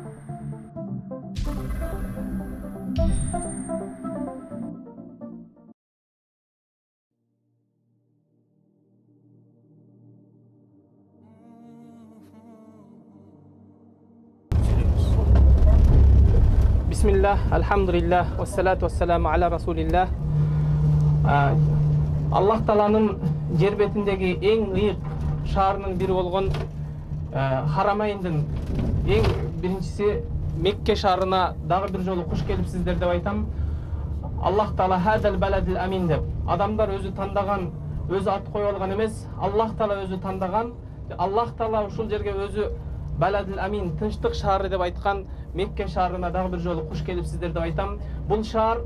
Bismillah, alhamdulillah, wassalatu wassalamu ala rasulillah. Аллах Тааланын жер бетиндеги эң ыйык шаарынын бири болгон Харамайндын эң биринчиси Мекке шаарына дагы бир жолу куш келипсиздер деп айтам. Аллах Таала хадал баладил амин деп. Адамдар өзү тандаган, өзү ат коюп алган эмес, Аллах Таала өзү тандаган. Аллах Таала ушул жерге өзү баладил амин, тынчтык шаары деп айткан Мекке шаарына дагы бир жолу куш келипсиздер деп айтам. Бул шаар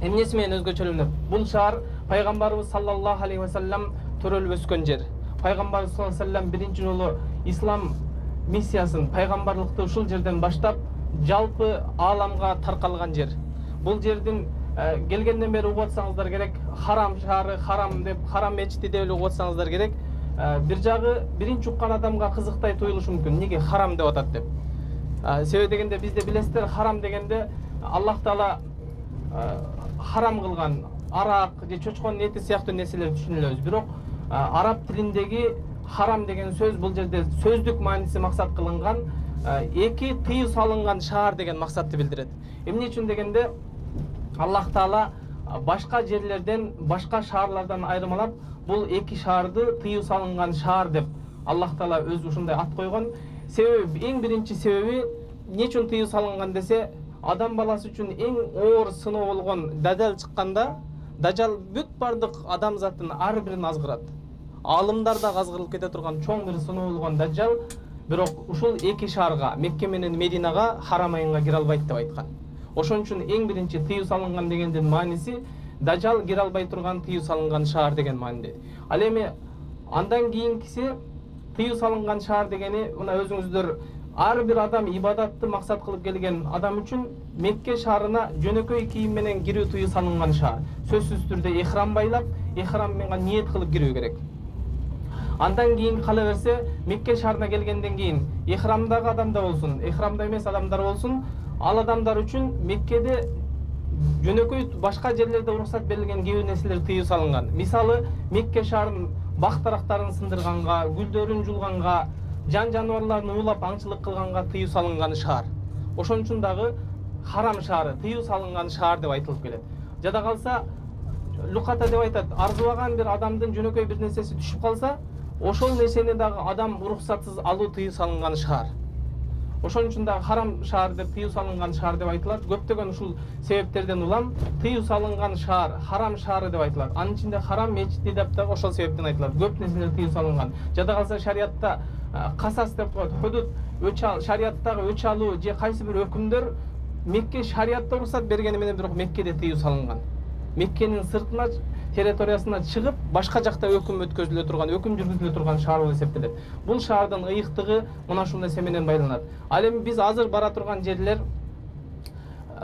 эмнеси менен өзгөчөлөнөт? Бул шаар пайгамбарыбыз саллаллаху алейхи ва саллям төрөлүп өскөн жер. Пайгамбарыбыз саллаллаху алейхи ва саллям биринчи жолу ислам миссиясын, пайгамбарлыкты ушул жерден баштап жалпы ааламга таркалган жер. Бул жердин келгенден бери угуп атсаңыздар керек, харам шаары, харам деп, харам мечити деп угуп атсаңыздар керек. Бир жагы биринчи уккан адамга кызыктай туюлушу мүмкүн. Неге харам деп атат деп. Себеби дегенде бизде билесиздер, харам дегенде Аллах Таала харам кылган арак же чочконун эти сыяктуу нерселерди түшүнөлөбүз. Бирок араб тилиндеги харам деген сөз бул жерде сөздүк мааниси максат кылынган, эки тыюу салынган шаар деген максатты билдирет. Эмне үчүн дегенде Аллах Таала башка жерлерден, башка шаарлардан айырмалап, бул эки шаарды тыюу салынган шаар деп Аллах Таала өзү ушундай ат койгон. Себеби, эң биринчи себеби эмне үчүн тыюу салынган десе, адам баласы үчүн эң оор сыноо болгон дажал чыкканда, дажал бүт бардык адамзаттын ар бирин азгырат. Алымдар да азгырылып кете турган чоң бир сыноо болгон дажал, бирок ушул эки шаарга, Мекке менен Мединага, Харамайнга кире албайт деп айткан. Ошон үчүн эң биринчи тыюу салынган дегендин мааниси дажал кире албай турган тыюу салынган шаар деген мааниде. Ал эми андан кийинкиси тыюу салынган шаар дегени, мына өзүңүздөр ар бир адам ибадатты максат кылып келген адам үчүн Мекке шаарына жөнөкөй кийим менен кирүү тыюу салынган шаар. Сөзсүз түрдө ихрам байлап, ихрам менен ниет кылып кирүү керек. Андан кийин кала берсе, Мекке шаарына келгенден кийин ихрамдагы адамдар болсун, ихрамда эмес адамдар болсун, ал адамдар үчүн Меккеде жөнөкөй башка жерлерде уруксат берилген кээ бир нерселер тыюу салынган. Мисалы, Мекке шаарынын бак дарактарын сындырганга, гүлдөрүн жулганга, жан жаныбарларын уулап аңчылык кылганга тыюу салынган шаар. Ошон үчүн дагы харам шаары, тыюу салынган шаар деп айтылып келет. Жада калса, луката деп айтат, арзубаган бир адамдын жөнөкөй бир нерсеси түшүп калса, ошол нерсени дагы адам уруксатсыз алуу тыюу салынган шаар. Ошон үчүн дагы харам шаар деп, тыюу салынган шаар деп айтылат. Көптөгөн ушул себептерден улам тыюу салынган шаар, харам шаары деп айтылат. Анын ичинде харам мечити деп дагы ошол себептен айтылат. Көп нерселер тыюу салынган. Жада калса шариятта касас деп коет, худуд, шариаттагы өч алуу же кайсы бир өкүмдөр Мекке шариятта уруксат бергени менен бирок Меккеде тыюу салынган. Меккенин сыртына, территориясына чыгып, башка жакта өкүм өткөзүлө турган, өкүм жүргүзүлө турган шаар болуп эсептелет. Бул шаардын ыйыктыгы мына ушул нерсе менен байланат. Ал эми биз азыр бара турган жерлер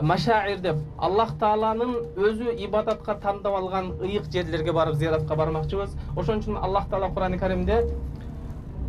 машаир деп, Аллах Тааланын өзү ибадатка тандап алган ыйык жерлерге барып зияратка бармакчыбыз. Ошон үчүн Аллах Таала Кур'ан-ы Каримде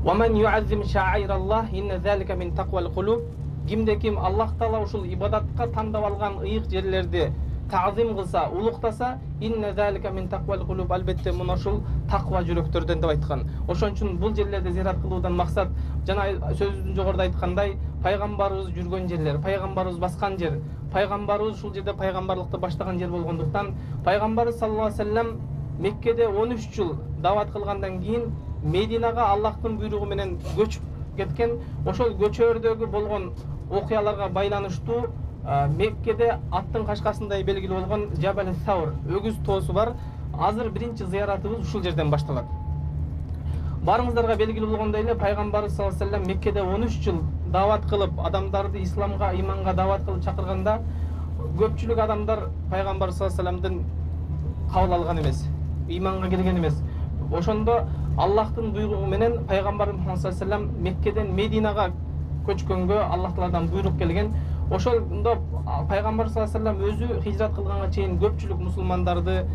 وَمَنْ يُعَزِّمْ شَعَائِرَ اللَّهِ إِنَّ ذَلِكَ مِنْ تَقْوَى الْقُلُوبِ. Кимде ким Аллах Таала ушул ибадатка тандап алган ыйык жерлерди таазим кылса, улуктаса, инна залика мин тaqwal qulub, албетте мына ушул таква жүрөктөрдөн деп айткан. Ошон үчүн бул жерлерде зиярат кылуудан максат жана сөзүбүздүн жогоруда айткандай, пайгамбарыбыз жүргөн жерлер, пайгамбарыбыз баскан жер, пайгамбарыбыз ушул жерде пайгамбарлыкты баштаган жер болгондуктан, пайгамбарыбыз саллаллаху алейхи ва саллям Меккеде 13 жыл дават кылгандан кийин Мединага Аллахтын буйругу менен көчүп кеткен. Ошол көчөрдөгү болгон окуяларга байланыштуу Меккеде аттын кашкасындай белгилүү болгон Жабал Саур, өгүз тоосу бар. Азыр биринчи зыяратыбыз ушул жерден башталат. Барыңыздарга белгилүү болгондой эле пайгамбарыбыз саллаллаху алейхи ва саллям Меккеде 13 жыл дават кылып, адамдарды исламга, иманга дават кылып чакырганда, көпчүлүк адамдар пайгамбарыбыз саллаллаху алейхи ва саллямдын кабыл алган эмес, иманга келген эмес. Ошондо Аллахтын буйругу менен пайгамбарыбыз саллаллаху алейхи ва саллям Меккеден Мединага көчкөнгө Аллах Тааладан буйрук келген. Ошондо пайгамбар саллаллаху алейхи ва саллям өзү хижрат кылганга чейин көпчүлүк мусулмандарды,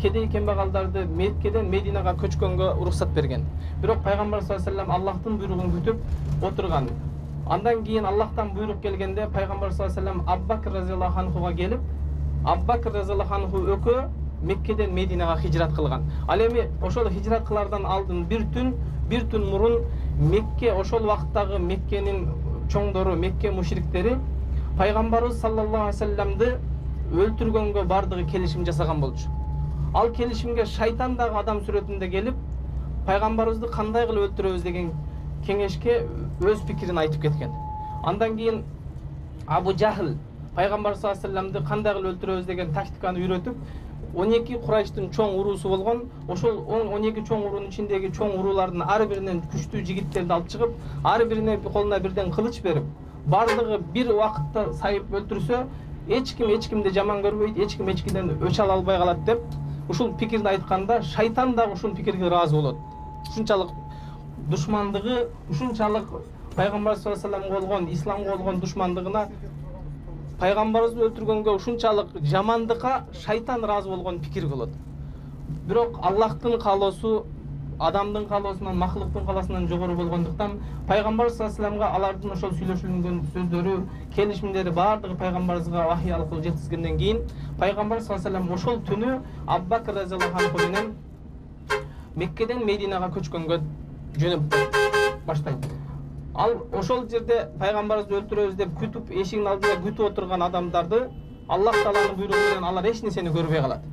кедей кембагалдарды Меккеден Мединага көчкөнгө уруксат берген. Бирок пайгамбар саллаллаху алейхи ва саллям Аллахтын буйругун күтүп отурган. Андан кийин Аллахтан буйрук келгенде пайгамбар саллаллаху алейхи вассалам Абу-Бакр разияллаху анхуга келип, Абу-Бакр разияллаху анху экөө Меккеден Мединага хижрат кылган. Ал эми ошол хижрат кылардан алдын бир түн мурун Мекке, ошол убакыттагы Меккенин чоңдору, Мекке мушриктери пайгамбарыбыз саллаллаху алейхи вассаламды өлтүргөнгө бардыгы келишим жасаган болчу. Ал келишимге шайтан дагы адам сүрөтүндө келип, пайгамбарыбызды кандай кылып өлтүрөбүз деген кеңешке өз пикирин айтып кеткен. Андан кийин Абу Жахл пайгамбар саллаллаху алейхи вассаламды кандай кылып өлтүрөбүз деген тактиканы үйрөтүп, 12 Курайштын чоң уруусу болгон, ошол 12 чоң уруунун ичиндеги чоң уруулардын ар биринен күчтүү жигиттерди алып чыгып, ар бирине колуна бирден кылыч берип, бардыгы бир убакытта сайып өлтүрсө, эч кимди жаман көрбөйт, эч ким эчкиден өч ала албай калат деп ушул пикирди айтканда, шайтан дагы ушул пикирге ыраазы болот. Ушунчалык душмандыгы, ушунчалык пайгамбар саллаллаху алейхи вассаламга болгон, исламга болгон душмандыгына, пайгамбарыбызды өлтүргөнгө ушунчалык жамандыкка шайтан ыраазы болгон пикир кылат. Бирок Аллахтын каалоосу адамдын каалоосунан, махлуктун каалоосунан жогору болгондуктан пайгамбар саллаллаху алейхи вассаламга алардын ошол сүйлөшүлгөн сөздөрү, келишимдери бардыгы пайгамбарыбызга вахий аркылуу жеткизгенден кийин пайгамбар саллаллаху алейхи вассалам ошол түнү Абу-Бакр разияллаху анху менен Меккеден Мединага көчкөнгө жөнөп баштайт. Ал ошол жерде пайгамбарыбызды өлтүрөбүз деп күтүп, эшигин алдында күтүп отурган адамдарды Аллах тааланын буйругу менен алар эч нерсени көрбөй калат.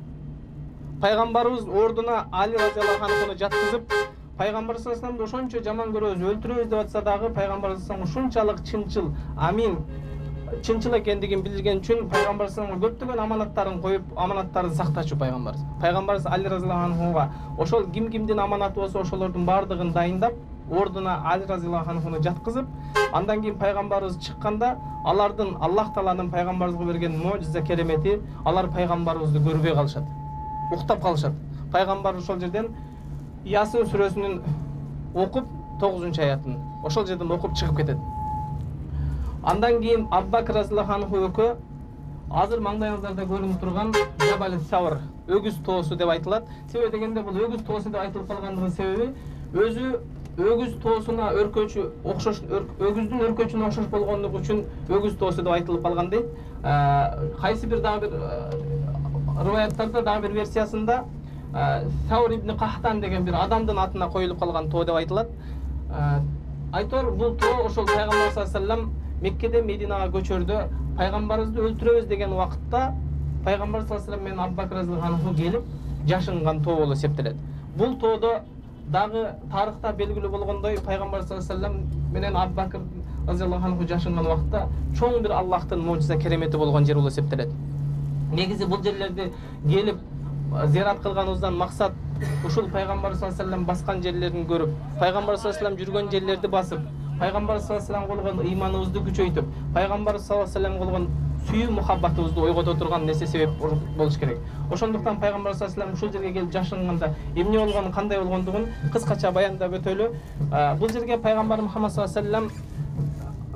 Пайгамбарыбыз ордуна Али разияллаху анхуну жаткызып, пайгамбар саллаллаху алейхи вассаламды ошончо жаман көрөбүз, өлтүрөбүз деп атса дагы пайгамбар саллаллаху алейхи вассалам ушунчалык чынчыл, амин, чынчыл экендигин билген үчүн пайгамбар саллаллаху алейхи вассаламга көптөгөн аманаттарын коюп, аманаттарын сактачу пайгамбарыбыз. Пайгамбарыбыз Али разияллаху анхуга ошол кимдин аманаты болсо ошолордун бардыгын дайындап, ордуна Али разияллаху анхуну жаткызып, андан кийин пайгамбарыбыз чыкканда, алардын Аллах тааланын пайгамбарыбызга берген мojиza керемети, алар пайгамбарыбызды көрбөй калышат. Уктап калышат. Пайгамбар ошол жерден Ясин сүрөсүнүн окуп 9-аятын ошол жерден окуп чыгып кетет. Андан кийин Абу-Бакр разияллаху анху экөө азыр маңдайыңыздарда көрүнүп турган Жабал Савр, өгүз тоосу деп айтылат. Себеби дегенде бул өгүз тоосу деп айтылып калгандыгынын себеби өзү өгүз тоосуна өркөчү окшош, өгүздүн өркөчүнө окшош болгондугу үчүн өгүз тоосу деп айтылып калган дейт. Кайсы бир дагы бир риваяттарда, дагы бир версиясында Саур ибн Кахтан деген бир адамдын атына коюлуп калган тоо деп айтылат. Айтор бул тоо ошол пайгамбар саллаллаху алейхи вассалам Меккеден Мединага көчөрдө пайгамбарыбызды өлтүрөбүз деген убакытта пайгамбар саллаллаху алейхи вассалам менен Абу-Бакр разияллаху анху келип жашынган тоо болуп эсептелет. Бул тоодо дагы тарыхта белгилүү болгондой пайгамбар саллаллаху алейхи вассалам менен Абу-Бакр разияллаху анху жашынган убакытта чоң бир Аллахтын мojиza керемети болгон жер болуп эсептелет. Негизи бул жерлерди келип зиярат кылганыбыздан максат ушул пайгамбар саллаллаху алейхи вассалам баскан жерлерин көрүп, пайгамбар саллаллаху алейхи вассалам жүргөн жерлерди басып, пайгамбар саллаллаху алейхи вассаламга болгон ыйманыбызды күчөйтүп, пайгамбар саллаллаху алейхи вассаламга болгон сүйүү мухаббатыбызды ойгото турган нерсе себеп болуш керек. Ошондуктан пайгамбар саллаллаху алейхи вассалам ушул жерге келип жашынганда эмне болгонун, кандай болгондугун кыскача баяндап өтөлү. Бул жерге пайгамбар Мухаммад саллаллаху алейхи вассалам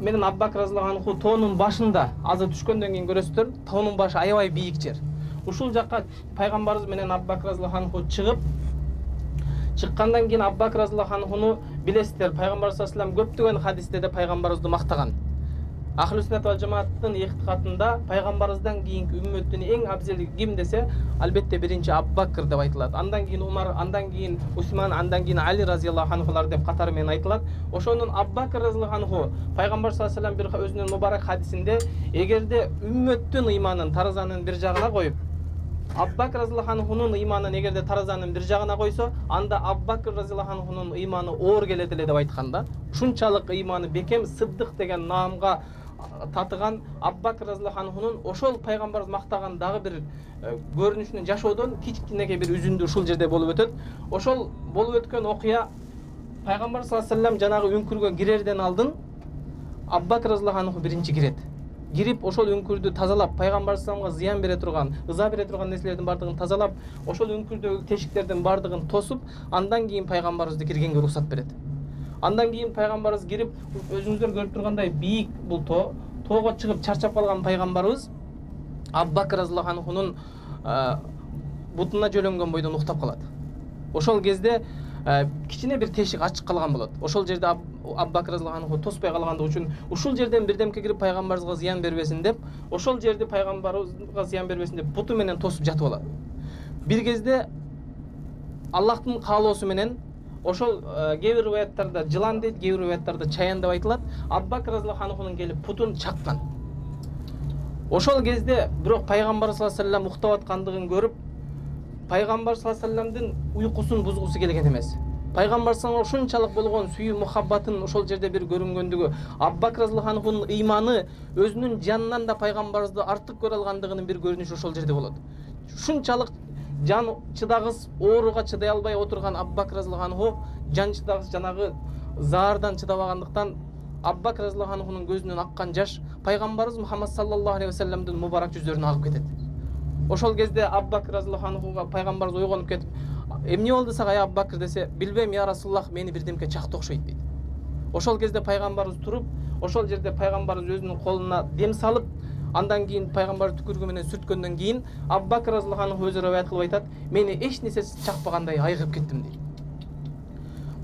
менен Абу-Бакр разияллаху анху тоонун башында, азыр түшкөндөн кийин көрөсүздөр, тоонун башы аябай бийик жер. Ушул жакка пайгамбарыбыз менен Абу-Бакр разияллаху анху чыккандан кийин Абу-Бакр разияллаху анхуну билесиздер, пайгамбар саллаллаху алейхи вассалам көптөгөн хадистерде пайгамбарыбызды мактаган. Ахлу сүннат ва жамааттын иктикадында пайгамбарыбыздан кийинки үммөттүн эң абзели ким десе, албетте биринчи Абу-Бакр деп айтылат. Андан кийин Умар, андан кийин Усман, андан кийин Али разияллаху анхулар деп катары менен айтылат. Ошонун Абу-Бакр разияллаху анху пайгамбар саллаллаху алейхи вассалам бир өзүнүн мубарак хадисинде, эгерде үммөттүн ыйманын таразанын бир жагына коюп, Абу-Бакр разияллаху анхунун ыйманын эгерде таразанын бир жагына койсо, анда Абу-Бакр разияллаху анхунун ыйманы оор келет эле деп айтканда, ушунчалык ыйманы бекем, Сыддык деген наамга татыган Абу-Бакр разияллаху анхунун ошол пайгамбарыбыз мактаган дагы бир көрүнүшүнөн жашоодон кичинекей бир үзүндү ушул жерде болуп өтөт. Ошол болуп өткөн окуя пайгамбар саллаллаху алейхи вассалам жанагы үңкүргө кирерден алдын Абу-Бакр разияллаху анху биринчи кирет. Кирип ошол үңкүрдү тазалап, пайгамбар саллаллаху алейхи зыян бере турган, ыза бере турган нерселердин бардыгын тазалап, ошол үңкүрдөгү тешиктердин бардыгын тосуп, андан кийин пайгамбарыбызды киргенге уруксат берет. Андан кийин пайгамбарыбыз кирип, өзүңүздөр көрүп тургандай бийик бул тоого чыгып чарчап калган пайгамбарыбыз Абу-Бакр разияллаху анхунун бутуна жөлөнгөн бойдон уктап калат. Ошол кезде кичине бир тешик ачык калган болот. Ошол жерде Абу Бакр разыяллаху анху тоспой калгандыгы үчүн ушул жерден бирдемке кирип пайгамбарыбызга зыян бербесин деп, ошол жерди пайгамбарыбызга зыян бербесин деп буту менен тосуп жатып алат. Бир кезде Аллахтын каалоосу менен ошол кээ бир риваяттарда жылан дейт, кээ бир риваяттарда чаян деп айтылат. Абу Бакр разыяллаху анхунун келип путун чаккан. Ошол кезде бирок пайгамбар саллаллаху алейхи вассалам уктап аткандыгын көрүп, пайгамбар саллаллаху алейхи вассаламдын уйкусун бузгусу келген эмес. Пайгамбар саллаллаху алейхи вассаламга ушунчалык болгон сүйүү мухаббатын ошол жерде бир көрүнгөндүгү, Абу Бакр разыяллаху анхунун ыйманы өзүнүн жанынан да пайгамбарыбызды артык көрө алгандыгынын бир көрүнүшү ошол жерде болот. Ушунчалык жан чыдагыс ооруга чыдай албай отурган Абу Бакр разыяллаху анху жан чыдагыс жанагы заардан чыдабагандыктан Абу Бакр разыяллаху анхунун көзүнөн аккан жаш пайгамбарыбыз Мухаммад саллаллаху алейхи вассаламдын мубарак жүздөрүнө агып кетет. Ошол кезде Абу Бакр разыяллаху анхуга пайгамбарыбыз ойгонуп кетип, эмне болду сага Абу Бакр десе, билбейм я Расулуллах, мени бирдемке чакты окшойт дейт. Ошол кезде пайгамбарыбыз туруп, ошол жерде пайгамбарыбыз өзүнүн колуна дем салып, андан кийин пайгамбар түкүрүгү менен сүрткөндөн кийин Абу Бакр разыяллаху анху өзү риваят кылып айтат, мени эч нерсе чакпагандай айыгып кеттим дейт.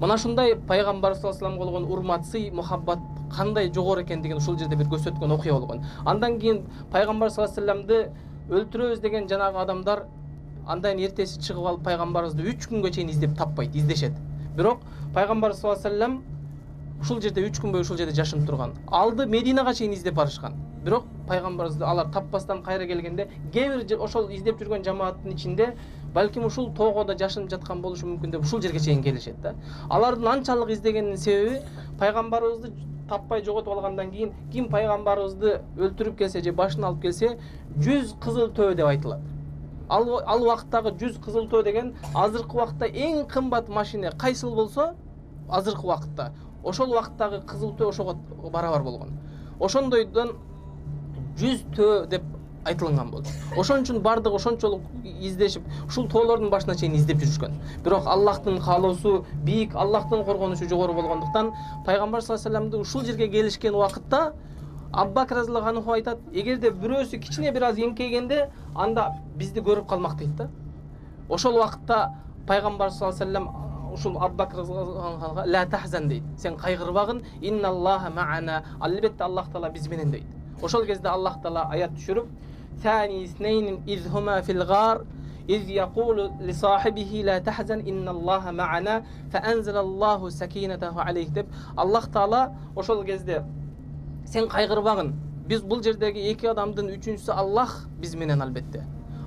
Мына ушундай пайгамбар саллаллаху алейхи вассаламга болгон урмат, сый, мухаббат кандай жогору экендигин ушул жерде бир көрсөткөн окуя болгон. Андан кийин пайгамбар саллаллаху алейхи вассаламды өлтүрөбүз деген жанагы адамдар андан эртеси чыгып алып пайгамбарыбызды 3 күнгө чейин издеп таппайт, издешет. Бирок пайгамбар саллаллаху алейхи вассалам ушул жерде 3 күн бою ушул жерде жашынып турган. Алды Мединага чейин издеп барышкан. Бирок пайгамбарыбызды алар таппастан кайра келгенде, кээ бир ошол издеп жүргөн жамааттын ичинде балким ушул тоого да жашынып жаткан болушу мүмкүн деп ушул жерге чейин келишет да. Алардын анчалык издегенинин себеби пайгамбарыбызды таппай жоготуп алгандан кийин ким пайгамбарыбызды өлтүрүп келсе же башын алып келсе 100 кызыл төө деп айтылат. Ал убакыттагы 100 кызыл төө деген азыркы убакытта эң кымбат машина кайсыл болсо, азыркы убакытта ошол убакыттагы кызыл төө ошого барабар болгон. Ошондойдон 100 төө деп айтылган болчу. Ошон үчүн бардык ошончолук издешип, ушул тоолордун башына чейин издеп жүрүшкөн. Бирок Аллахтын каалоосу бийик, Аллахтын коргонушу жогору болгондуктан пайгамбар саллаллаху алейхи вассаламды ушул жерге келишкен убакытта Абу Бакр разыяллаху анху айтат, эгерде бирөөсү кичине бир аз эңкейгенде, анда бизди көрүп калмак дейт да. Ошол убакытта пайгамбар саллаллаху алейхи вассалам ушул Абу Бакр разыяллаху анхуга ла тахзан дейт. Сен кайгырбагын, инналлаха ма'ана, албетте Аллах таала биз менен дейт. Ошол кезде Аллах таала аят түшүрүп, ثاني اثنين إذ هما في الغار إذ يقول لصاحبه لا تحزن إن الله معنا فأنزل الله سكينته عليه деп Аллах таала ошол кезде сен кайгырбагын, биз бул жердеги эки адамдын үчүнчүсү Аллах биз менен албетте.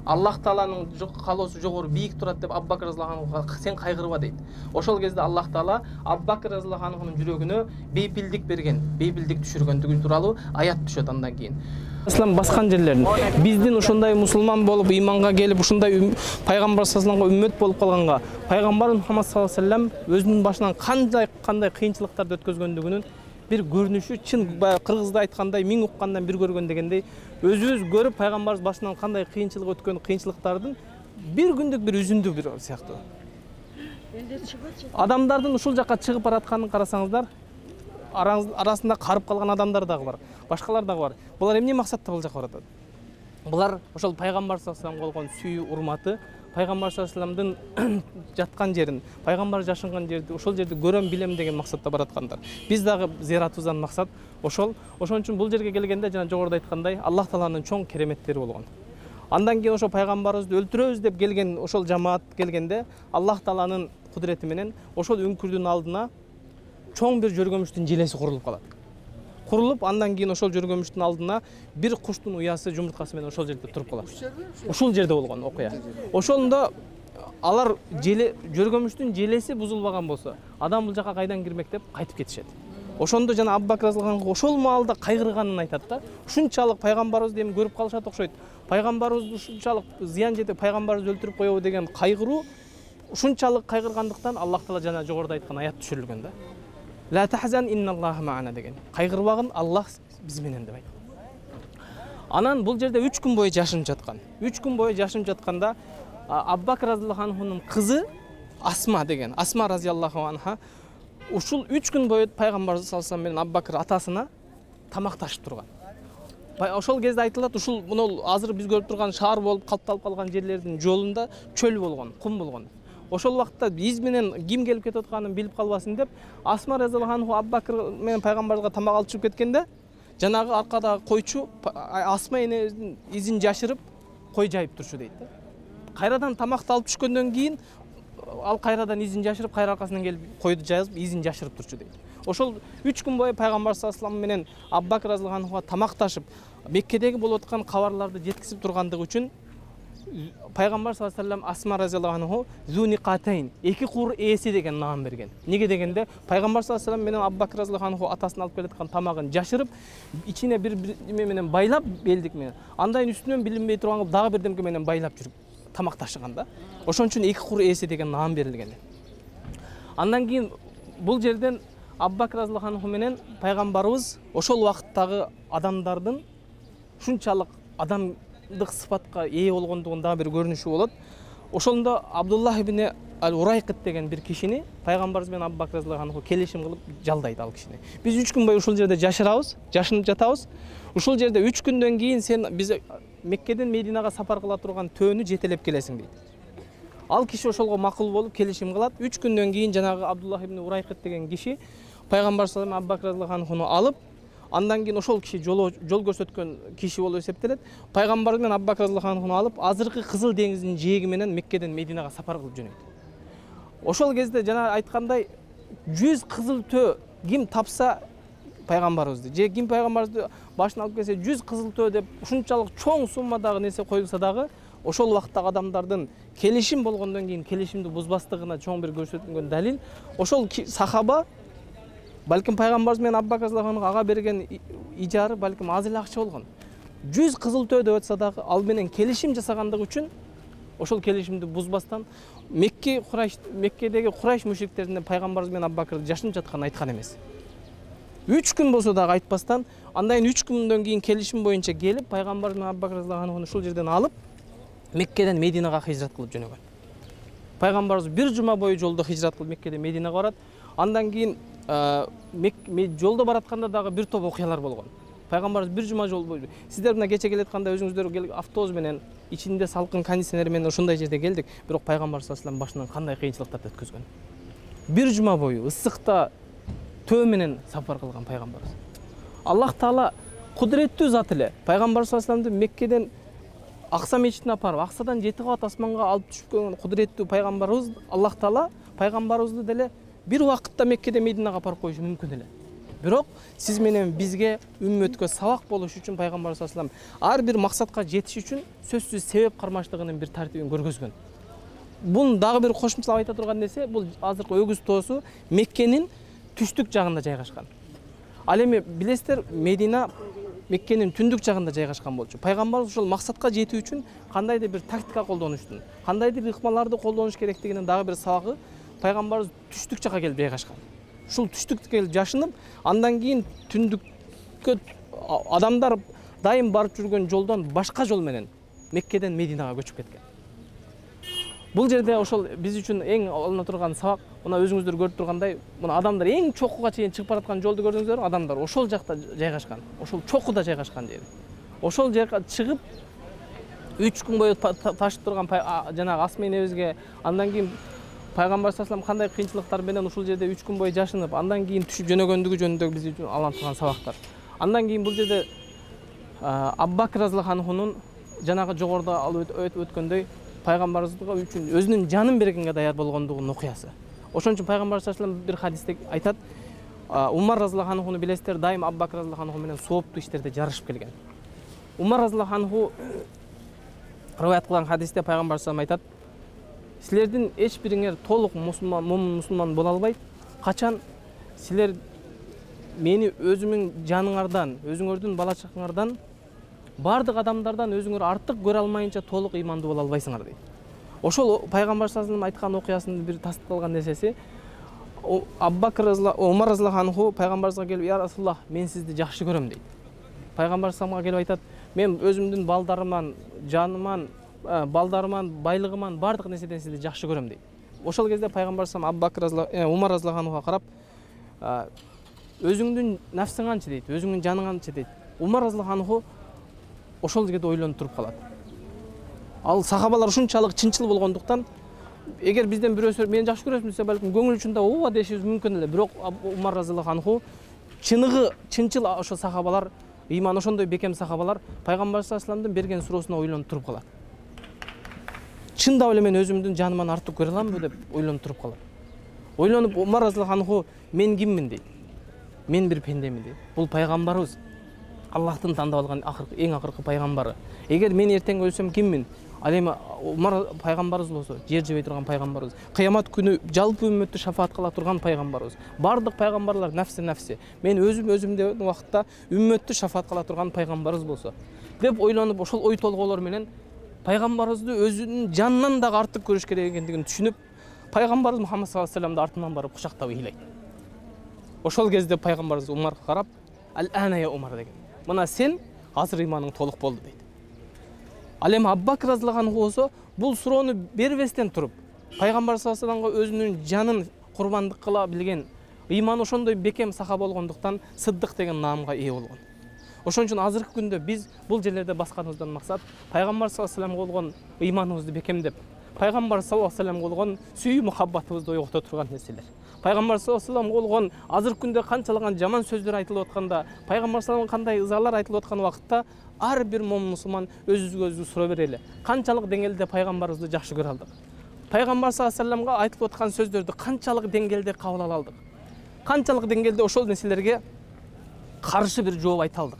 Аллах тааланын каалоосу жогору бийик турат деп Абу Бакр разыяллаху анхуга сен кайгырба дейт. Ошол кезде Аллах таала Абу Бакр разыяллаху анхунун жүрөгүнө бейпилдик берген, бейпилдик түшүргөндүгү тууралуу аят түшөт андан кийин. Ислам баскан жерлерин биздин ушундай мусулман болуп ыйманга келип ушундай пайгамбар саллаллаху алейхи вассаламга үммөт болуп калганга пайгамбар Мухаммад саллаллаху алейхи вассалам өзүнүн башынан кандай кыйынчылыктарды өткөзгөндүгүнүн бир көрүнүшү, чын кыргызда айткандай миң уккандан бир көргөн дегендей, өзүбүз көрүп пайгамбарыбыз башынан кандай кыйынчылык өткөн кыйынчылыктардын бир күндүк бир үзүндү бир сыяктуу. Адамдардын ушул жака чыгып баратканын карасаңыздар, арасында карып калган адамдар дагы бар, башкалар дагы бар. Булар эмне максатта бул жака баратат? Булар ошол пайгамбар саллаллаху алейхи вассаламга болгон сүйүү, урматы, пайгамбар саллаллаху алейхи вассаламдын жаткан жерин, пайгамбар жашынган жерди, ошол жерди көрөм, билем деген максатта бараткандар. Биз дагы зыяратыбыздан максат ошол. Ошон үчүн бул жерге келгенде жана жогоруда айткандай, Аллах тааланын чоң кереметтери болгон. Андан кийин ошол пайгамбарыбызды өлтүрөбүз деп келген ошол жамаат келгенде, Аллах тааланын кудурети менен ошол үңкүрдүн алдына чоң бир жөргөмүштүн желеси курулуп калат. Курулуп, андан кийин ошол жөргөмүштүн алдына бир куштун уясы, жумурткасы менен ошол жерде туруп калат. Ушул жерде болгон окуя. Ошондо алар жөргөмүштүн желеси бузулбаган болсо, адам бул жака кайдан кирмек деп кайтып кетишет. Ошондо жана Абу Бакр разыяллаху анху ошол маалда кайгырганын айтат да. Ушунчалык пайгамбарыбызды эми көрүп калышат окшойт. Пайгамбарыбызды ушунчалык зыян жетип пайгамбарыбызды өлтүрүп коебу деген кайгыруу ушунчалык кайгыргандыктан Аллах таала жана жогоруда айткан аят түшүрүлгөн да. Ла тахзан инналлаха ма'ана деген. Кайгырбагын, Аллах биз менен деп айткан. Анан бул жерде 3 күн бою жашынып жаткан. 3 күн бою жашынып жатканда Абу Бакр разыяллаху анхунун кызы Асма деген, Асма разыяллаху анха ушул 3 күн бою пайгамбар саллаллаху алейхи вассалам менен Абу Бакр атасына тамакташып турган. Ошол кезде айтылат, ушул мына азыр биз көрүп турган шаар болуп калыпталып калган жерлердин жолунда чөл болгон, кум болгон. ошол убакта биз менен ким келип кетип атканын билип калбасын деп Асма разияллаху анху Абу Бакр менен пайгамбарыбызга тамак алып чыгып кеткенде жанагы аркадагы койчу Асма энебиздин изин жашырып кой жайып турчу дейт да. Кайрадан тамакты алып түшкөндөн кийин ал кайрадан изин жашырып кайра аркасынан келип койду жайып изин жашырып турчу дейт. Ошол 3 күн бою пайгамбар саллаллаху алейхи менен Абу Бакр разияллаху анхуга тамакташып Меккедеги болуп аткан кабарларды жеткизип тургандыгы үчүн пайгамбар саллаллаху алейхи Асма разияллаху анху Зуниқатайн, эки кур ээси деген наам берген. Неге дегенде пайгамбар саллаллаху алейхи менен Абу Бакр разияллаху анху атасынан алып келаткан тамагын жашырып, ичине бир неме менен байлап, белдик менен. Андайын үстүнөн билинбей турган кылып дагы бирдемке менен байлап жүрүп тамакташкан да. Ошон үчүн эки кур ээси деген наам берилген. Андан кийин бул жерден Абу Бакр разияллаху анху менен пайгамбарыбыз ошол убакыттагы адамдардын ушунчалык адамдык сыпатка ээ болгондугун дагы бир көрүнүшү болот. Ошондо Абдуллах ибн ал-Урайкыт деген бир кишини пайгамбарыбыз менен Абу Бакр разияллаху анху келишим кылып жалдайт ал кишини. Биз 3 күн бою ушул жерде жашырабыз, жашынып жатабыз. Ушул жерде 3 күндөн кийин сен биз Меккеден Мединага сапар кыла турган төөнү жетелеп келесиң дейт. Ал киши ошолго макул болуп келишим кылат. 3 күндөн кийин жанагы Абдуллах ибн Урайкыт деген киши пайгамбар саллаллаху алейхи Абу Бакр разияллаху анхуну алып, андан кийин ошол киши жол көрсөткөн киши болуп эсептелет. Пайгамбар менен Абу Бакр разияллаху анхуну алып, азыркы Кызыл деңиздин жээги менен Меккеден Мединага сапар кылып жөнөйт. Ошол кезде жана айткандай 100 кызыл төө ким тапса пайгамбарыбызды, же ким пайгамбарыбызды башына алып келсе 100 кызыл төө деп ушунчалык чоң суммадагы нерсе коюлса дагы, ошол убактагы адамдардын келишим болгондон кийин келишимди бузбастыгына чоң бир көрсөтүлгөн далил. Ошол сахаба балким пайгамбарыбыз менен Абу Бакр разияллаху анху ага берген ижары балким аз эле акча болгон. 100 кызыл төө деп атса дагы ал менен келишим жасагандыгы үчүн ошол келишимди бузбастан Меккедеги Курайш мушриктеринен пайгамбарыбыз менен Абу Бакрды жашынып жатканын айткан эмес. 3 күн болсо дагы айтпастан, андан 3 күндөн кийин келишим боюнча келип, пайгамбарыбыз менен Абу Бакр разияллаху анхуну ушул жерден алып, Меккеден Мединага хижрат кылып жөнөгөн. Пайгамбарыбыз бир жума бою жолдо хижрат кылып Меккеден Мединага барат. Андан кийин жолдо баратканда дагы бир топ окуялар болгон. Пайгамбарыбыз бир жума жол бою. Сиздер мына кече келатканда өзүңүздөр автобус менен, ичинде салкын кондиционер менен ушундай жерде келдик. Бирок пайгамбар саллаллаху алейхи башынан кандай кыйынчылыктарды өткөзгөн. Бир жума бою ысыкта төө менен сапар кылган пайгамбарыбыз. Аллах Таала кудуреттүү зат эле. Пайгамбар саллаллаху алейхи Меккеден Акса мечитине апарып, Аксадан 7 кабат асманга алып түшкөн кудуреттүү пайгамбарыбыз Аллах Таала пайгамбарыбызды деле бир убакытта Меккеден Мединага апарып коюшу мүмкүн эле. Бирок сиз менен бизге үммөткө сабак болуш үчүн пайгамбар саллаллаху алейхи ар бир максатка жетиш үчүн сөзсүз себеп кармаштыгынын бир тартибин көргөзгөн. Бунун дагы бир кошумчалап айта турган нерсе, бул азыркы өгүз тоосу Меккенин түштүк жагында жайгашкан. Ал эми билесиздер, Медина Меккенин түндүк жагында жайгашкан болчу. Пайгамбарыбыз ошол максатка жетүү үчүн кандайдыр бир тактика колдонуштун, кандайдыр ыкмаларды колдонуш керектигинин дагы бир сабагы пайгамбарыбыз түштүк жакка келип жайгашкан. Ушул түштүккө келип жашынып, андан кийин түндүккө адамдар дайым барып жүргөн жолдон башка жол менен Меккеден Мединага көчүп кеткен. Бул жерде ошол биз үчүн эң алына турган сабак, мына өзүңүздөр көрүп тургандай, мына адамдар эң чокуга чейин чыгып бараткан жолду көрдүңүздөр, адамдар ошол жакта жайгашкан, ошол чокуда жайгашкан жери. Ошол жерге чыгып 3 күн бою ташып турган жанагы Асма энебизге, андан кийин пайгамбар саллаллаху алейхи кандай кыйынчылыктар менен ушул жерде 3 күн бою жашынып, андан кийин түшүп жөнөгөндүгү жөнүндө биз үчүн алына турган сабактар. Андан кийин бул жерде Абу Бакр разияллаху анхунун жанагы жогоруда алып өткөндөй пайгамбарыбызга үчүн өзүнүн жанын бергенге даяр болгондугунун окуясы. Ошон үчүн пайгамбар саллаллаху алейхи бир хадисте айтат, Умар разияллаху анхуну билесиздер, дайым Абу Бакр разияллаху анху менен сооптуу иштерде жарышып келген. Умар разияллаху анху риваят кылган хадисте пайгамбар саллаллаху алейхи айтат, силердин эч бириңер толук мусулман боло албайт, качан силер мени өзүмүн жаныңардан, өзүңөрдүн бала чакаңардан, бардык адамдардан өзүңөр артык көрө алмайынча толук ыймандуу боло албайсыңар дейт. Ошол пайгамбар саллаллаху алейхи айткан окуясынын бир тастыкталган нерсеси, Умар разияллаху анху пайгамбарыбызга келип, "Я Расулуллах, мен сизди жакшы көрөм" дейт. Пайгамбар саллаллаху алейхи келип айтат, "Мен өзүмдүн балдарыман, жаныман, балдарыман, байлыгыман бардык нерседен сизди жакшы көрөм" дейт. Ошол кезде пайгамбар саллаллаху Умар разияллаху анхуга карап, "Өзүңдүн нафсиң канчы" дейт, "Өзүңдүн жаның канчы" дейт. Умар разияллаху анху ошол жерде ойлонуп туруп калат. Ал сахабалар ушунчалык чынчыл болгондуктан эгер бизден бирөөсү мени жакшы көрөсүң десе балким көңүл учунда ооба дешибиз мүмкүн эле. Бирок Умар разыяллаху анху чынчыл ошо сахабалар, ыйман ошондой бекем сахабалар пайгамбар саллаллаху алейхи вассаламдын берген суроосуна ойлонуп туруп калат. Чындап эле мен өзүмдүн жаныман артык көрө аламбы деп ойлонуп туруп калат. Ойлонуп Умар разыяллаху анху мен киммин дейт. Мен бир пендемин дейт. Бул пайгамбарыбыз. Аллахтын тандап алган эң акыркы пайгамбары. Эгер мен эртең өлсөм киммин? Ал эми Умар пайгамбарыбыз болсо, жер жебей турган пайгамбарыбыз. Кыямат күнү жалпы үммөттү шафаат кыла турган пайгамбарыбыз. Бардык пайгамбарлар нафси Мен өзүмдө убакытта үммөттү шафаат кыла турган пайгамбарыбыз болсо деп ойлонуп, ошол ой толгоолор менен пайгамбарыбызды өзүнүн жанынан дагы артык көрүш керек экендигин түшүнүп, пайгамбарыбыз Мухаммад саллаллаху алейхи вассаламды артынан барып кучактап ыйлайт. Ошол кезде пайгамбарыбыз Умарга карап, "Ал-ана я Умар" деген. Мына сен азыр ыйманың толук болду дейт. Ал эми Абу Бакр разыяллаху анху болсо бул суроону бербестен туруп, пайгамбар саллаллаху алейхи вассаламга өзүнүн жанын курбандык кыла билген, ыйманы ошондой бекем саха болгондуктан Сыддык деген наамга ээ болгон. Ошон үчүн азыркы күндө биз бул жерлерде басканыбыздан максат пайгамбар саллаллаху алейхи вассаламга болгон ыйманыбызды бекемдеп, пайгамбар саллаллаху алейхи вассаламга болгон сүйүү мухаббатыбызды ойгото турган нерселер. Пайгамбар саллаллаху алейхи вассаламга болгон азыркы күндө канчалаган жаман сөздөр айтылып атканда, пайгамбар саллаллаху кандай ызалар айтылып аткан убакытта ар бир момун мусулман өзүбүзгө суроо берели. Канчалык деңгээлде пайгамбарыбызды жакшы көрө алдык? Пайгамбар саллаллаху алейхи вассаламга айтылып аткан сөздөрдү канчалык деңгээлде кабыл ала алдык? Канчалык деңгээлде ошол нерселерге каршы бир жооп айта алдык?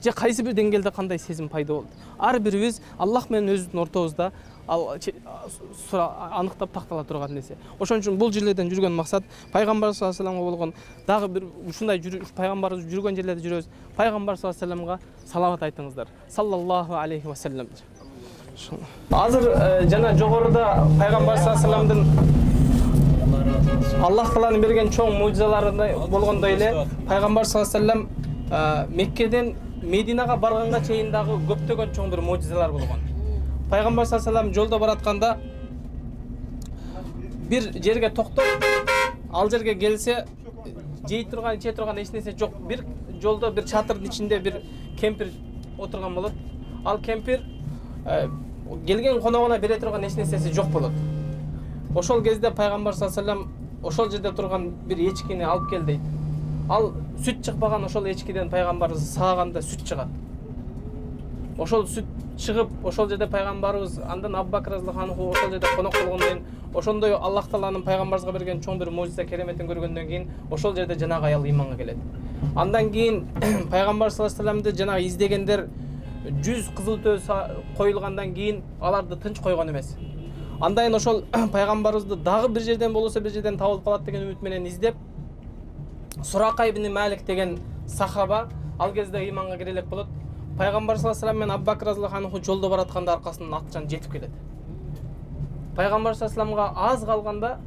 Же кайсы бир деңгээлде кандай сезим пайда болду? Ар бирибиз Аллах менен өзүбүздүн ортобузда аныктап тактала турган нерсе. Ошон үчүн бул жерлерден жүргөн максат пайгамбар саллаллаху алейхи вассаламга болгон дагы бир ушундай пайгамбарыбыз жүргөн жерлерде жүрөбүз. Пайгамбар саллаллаху алейхи вассаламга салават айтыңыздар. Саллаллаху алейхи вассалам. Азыр жана жогоруда пайгамбар саллаллаху алейхи вассаламдын Аллах тааланын берген чоң мужизалары болгондой эле пайгамбар саллаллаху алейхи вассалам Меккеден Мединага барганга чейин дагы көптөгөн чоң бир мужизалар болгон. Пайгамбар саллаллаху алейхи вассалам жолдо баратканда бир жерге токтоп, ал жерге келсе жей турган, иче турган эч нерсе жок. Бир жолдо бир чатырдын ичинде бир кемпир отурган болот. Ал кемпир келген коногуна бере турган эч нерсеси жок болот. Ошол кезде пайгамбар саллаллаху алейхи вассалам ошол жерде турган бир эчкини алып кел дейт. Ал сүт чыкпаган ошол эчкиден пайгамбарыбыз сааганда сүт чыгат. Ошол сүт чыгып, ошол жерде пайгамбарыбыз андан Абу Бакр разыяллаху анху ошол жерде конок болгондон кийин, ошондой Аллах тааланын пайгамбарыбызга берген чоң бир мужиза кереметин көргөндөн кийин ошол жерде жанагы аял ыйманга келет. Андан кийин пайгамбар саллаллаху алейхи вассаламды жанагы издегендер 100 кызыл төө коюлгандан кийин аларды тынч койгон эмес. Андан ошол пайгамбарыбызды дагы бир жерден болсо бир жерден табылып калат деген үмүт менен издеп, Сурака ибн Малик деген сахаба ал кезде ыйманга кире элек болот. Пайгамбар саллаллаху алейхи вассалам менен Абу Бакр разыяллаху анху жолдо баратканда аркасынан атчан жетип келет. Пайгамбар саллаллаху алейхи вассаламга аз калганда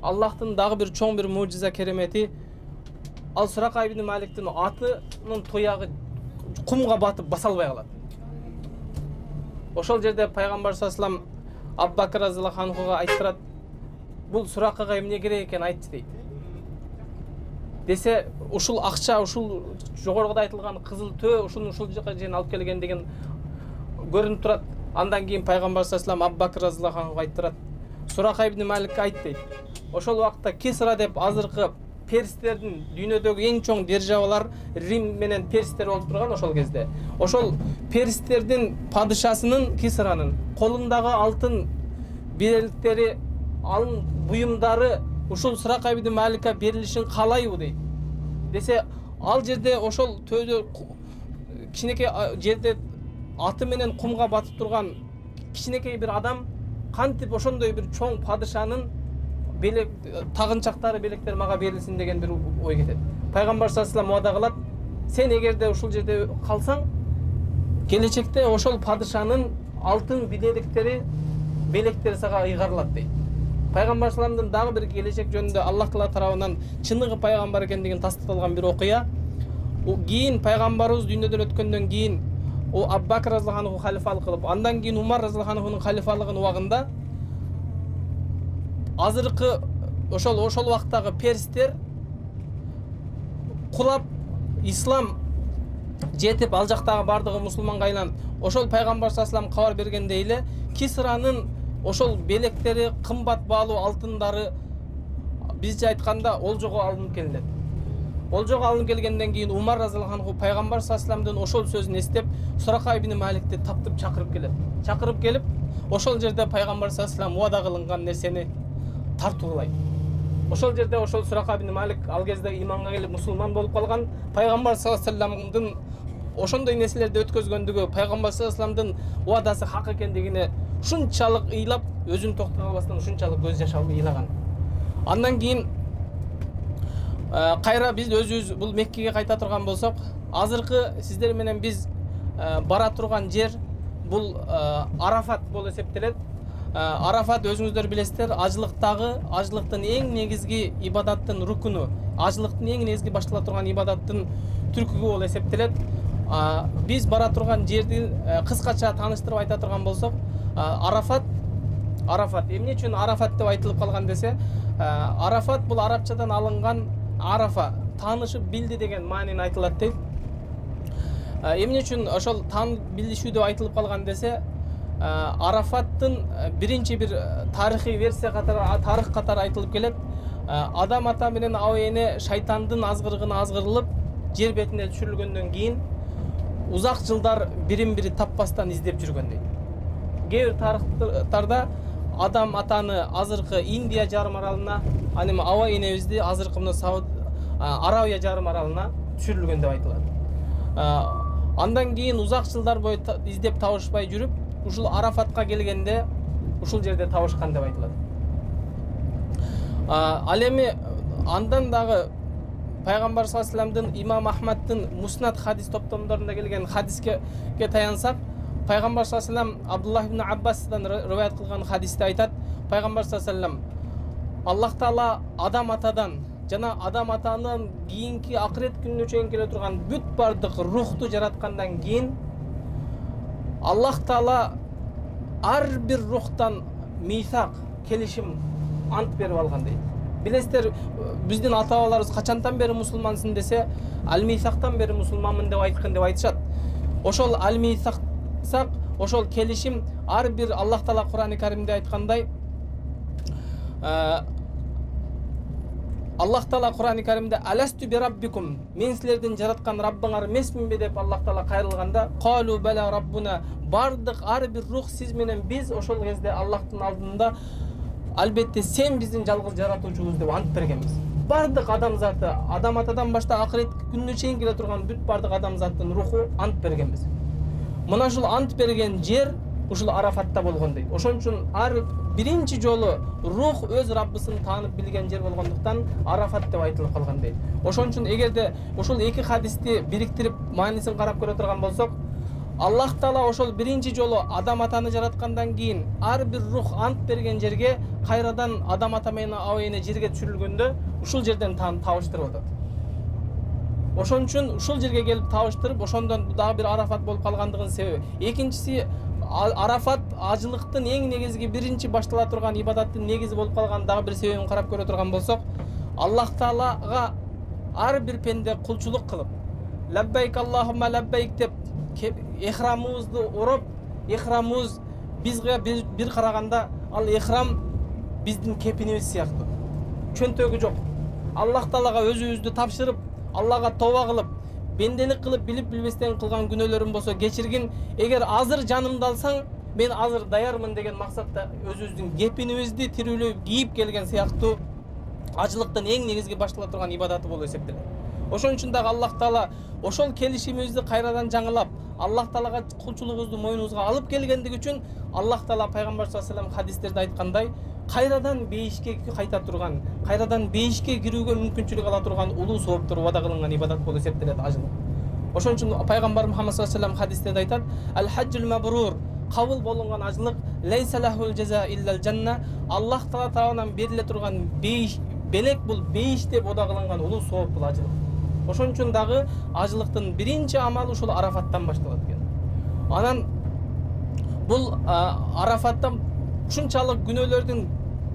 Аллахтын дагы бир чоң бир мужиза керемети, ал Сурака ибн Маликтин атынын туягы кумга батып баса албай калат. Ошол жерде пайгамбар саллаллаху алейхи вассалам Абу Бакр разыяллаху анхуга айтырат, бул Суракага эмне керек экен айтчы дейт. Десе, ушул акча, ушул жогоруда айтылган кызыл төө ушул жака жерин алып келгендигин көрүнүп турат. Андан кийин пайгамбар саллаллаху алейхи вассалам Абу Бакр разыяллаху анхуга айтырат, Сурака ибн Маликке айт дейт. Ошол убакта Кисра деп азыркы перстердин дүйнөдөгү эң чоң державалар Рим менен перстер болуп турган ошол кезде. Ошол перстердин падышасынын Кисранын колундагы алтын белектери, алтын буюмдары ушул Сурака ибн Маликке берилишин каалайбы дейт. Десе, ал жерде ошол төөдө кичинекей жерде аты менен кумга батып турган кичинекей бир адам кантип ошондой бир чоң падышанын белек тагынчактары, белектери мага берилсин деген бир ой кетет. Пайгамбар саллаллаху алейхи вассалам убада кылат, сен эгерде ушул жерде калсаң, келечекте ошол падышанын алтын белектери сага ыйгарылат дейт. Пайгамбар саллаллаху алейхи вассаламдын дагы бир келечек жөнүндө Аллах таала тарабынан чыныгы пайгамбар экендигин тастыкталган бир окуя. Кийин пайгамбарыбыз дүйнөдөн өткөндөн кийин Абу Бакр разыяллаху анху халифалык кылып, андан кийин Умар разыяллаху анхунун халифалыгынын убагында азыркы ошол убактагы перстер кулап ислам жетип ал жактагы бардыгы мусулманга айланып, ошол пайгамбар саллаллаху алейхи вассалам кабар бергендей эле Кисранын ошол белектери, кымбат баалуу алтындары бизче айтканда олжого алынып келинет. Олжого алынып келгенден кийин Умар разыяллаху анху пайгамбар саллаллаху алейхи вассаламдын ошол сөзүн эстеп Сурака ибн Маликти таптып чакырып келет. Чакырып келип, ошол жерде пайгамбар саллаллаху алейхи вассалам убада кылынган нерсени тартуулайт. Ошол жерде ошол Сурака ибн Малик ал кезде иманга келип мусулман болуп калган. Пайгамбар саллаллаху алейхи вассаламдын ошондой нерселерди өткөзгөндүгү, пайгамбар саллаллаху алейхи вассаламдын убадасы хак экендигине ушунчалык ыйлап, өзүн токтой албастан ушунчалык көз жаш алып ыйлаган. Андан кийин кайра биз өзүбүз бул Меккеге кайта турган болсок, азыркы сиздер менен биз бара турган жер бул Арафат болуп эсептелет. Арафат өзүңүздөр билесиздер, ажылыктын эң негизги ибадаттын рукуну, ажылыктын эң негизги баштала турган ибадаттын түркүгү болуп эсептелет. Биз бара турган жерди кыскача тааныштырып айта турган болсок, Арафат эмне үчүн Арафат деп айтылып калган десе, Арафат бул арабчадан алынган Арафа, таанышып билди деген маанини айтылат дейт. Эмне үчүн ошол таанып билишүү деп айтылып калган десе, Арафаттын биринчи бир тарыхый версия катары, тарых катары айтылып келет. Адам ата менен аба эне шайтандын азгырыгына азгырылып, жер бетине түшүрүлгөндөн кийин узак жылдар бирин-бири таппастан издеп жүргөн дейт. Кээ бир тарыхтарда Адам атаны азыркы Индия жарым аралына, аны аба энебизди азыркы мына Арабия жарым аралына түшүрүлгөн деп айтылат. Андан кийин узак жылдар бою издеп табышпай жүрүп, ушул Арафатка келгенде ушул жерде табышкан деп айтылат. Ал эми андан дагы пайгамбар саллаллаху алейхи вассаламдын Имам Ахмаддын Муснад хадис топтомдорунда келген хадиске таянсак, пайгамбар саллаллаху алейхи вассалам Абдуллах ибн Аббастан риваят кылган хадисте айтат, пайгамбар саллаллаху алейхи вассалам Аллах Таала Адам атадан жана Адам атанын кийинки акырет күнүнө чейин келе турган бүт бардык рухту жараткандан кийин Аллах Таала ар бир рухтан мисак, келишим, ант берип алган дейт. Билесиздер, биздин ата-бабаларыбыз качантан бери мусулмансың десе, ал-мисактан бери мусулманмын деп айткан деп айтышат. Ошол ал-мисак, ошол келишим ар бир Аллах Таала Кур'ан-ы Каримде айткандай, Аллах Таала Кур'ан-ы Каримде «Аласту би раббикум» мен силердин жараткан Раббыңар эмесминби деп Аллах Таала кайрылганда, «Қалу бала раббуна» бардык ар бир рух сиз менен биз ошол кезде Аллахтын алдында албетте сен биздин жалгыз жаратуучубуз деп ант бергенбиз. Бардык адамзаты, Адам атадан баштап акырет күнүнө чейин келе турган бүт бардык адамзаттын руху ант бергенбиз. Мына ушул ант берген жер ушул Арафатта болгон дейт. Ошон үчүн ар биринчи жолу рух өз Раббысын таанып билген жер болгондуктан Арафат деп айтылып калган дейт. Ошон үчүн эгерде ушул эки хадисти бириктирип маанисин карап көрө турган болсок, Аллах Таала ошол биринчи жолу Адам атаны жараткандан кийин ар бир рух ант берген жерге кайрадан Адам ата менен аба эне жерге түшүрүлгөндө ушул жерден табыштырып атат. Ошон үчүн ушул жерге келип табыштырып, ошондон дагы бир Арафат болуп калгандыгынын себеби. Экинчиси, Арафат ажылыктын эң негизги биринчи баштала турган ибадаттын негизи болуп калган дагы бир себебин карап көрө турган болсок, Аллах Таалага ар бир пенде кулчулук кылып, лаббайк Аллахумма лаббайк деп эхрамыбызды уруп, эхрамыбыз бизге бир караганда ал эхрам биздин кепинибиз сыяктуу. Чөнтөгү жок. Аллах Таалага өзүбүздү тапшырып, Аллага тоба кылып, бенделик кылып, билип билбестен кылган күнөөлөрүм болсо кечиргин. Эгер азыр жанымды алсаң, мен азыр даярмын деген максатта өзүбүздүн кепинибизди тирүүлөп кийип келген сыяктуу ажылыктын эң негизги баштала турган ибадаты болуп эсептелет. Ошон үчүн дагы Аллах Таала ошол келишимибизди кайрадан жаңылап, Аллах Таалага кулчулугубузду мойнубузга алып келгендиги үчүн Аллах Таала пайгамбар саллаллаху алейхи вассалам хадистерде айткандай, кайрадан бейишке кайта турган, кайрадан бейишке кирүүгө мүмкүнчүлүк ала турган улуу сооптор убада кылынган ибадат болуп эсептелет ажылык. Ошон үчүн пайгамбар Мухаммад саллаллаху алейхи вассалам хадистерде айтат: "Ал-хаджул мабрур" кабыл болгон ажылык лейса лахул жаза иллал жанна. Аллах Таала тарабынан бериле турган бейиш, белек бул бейиш деп ода кылынган улуу сооп бул ажылык. Ошон үчүн дагы ажылыктын биринчи амалы ушул Арафаттан башталат экен. Анан бул Арафаттан ушунчалык күнөөлөрдүн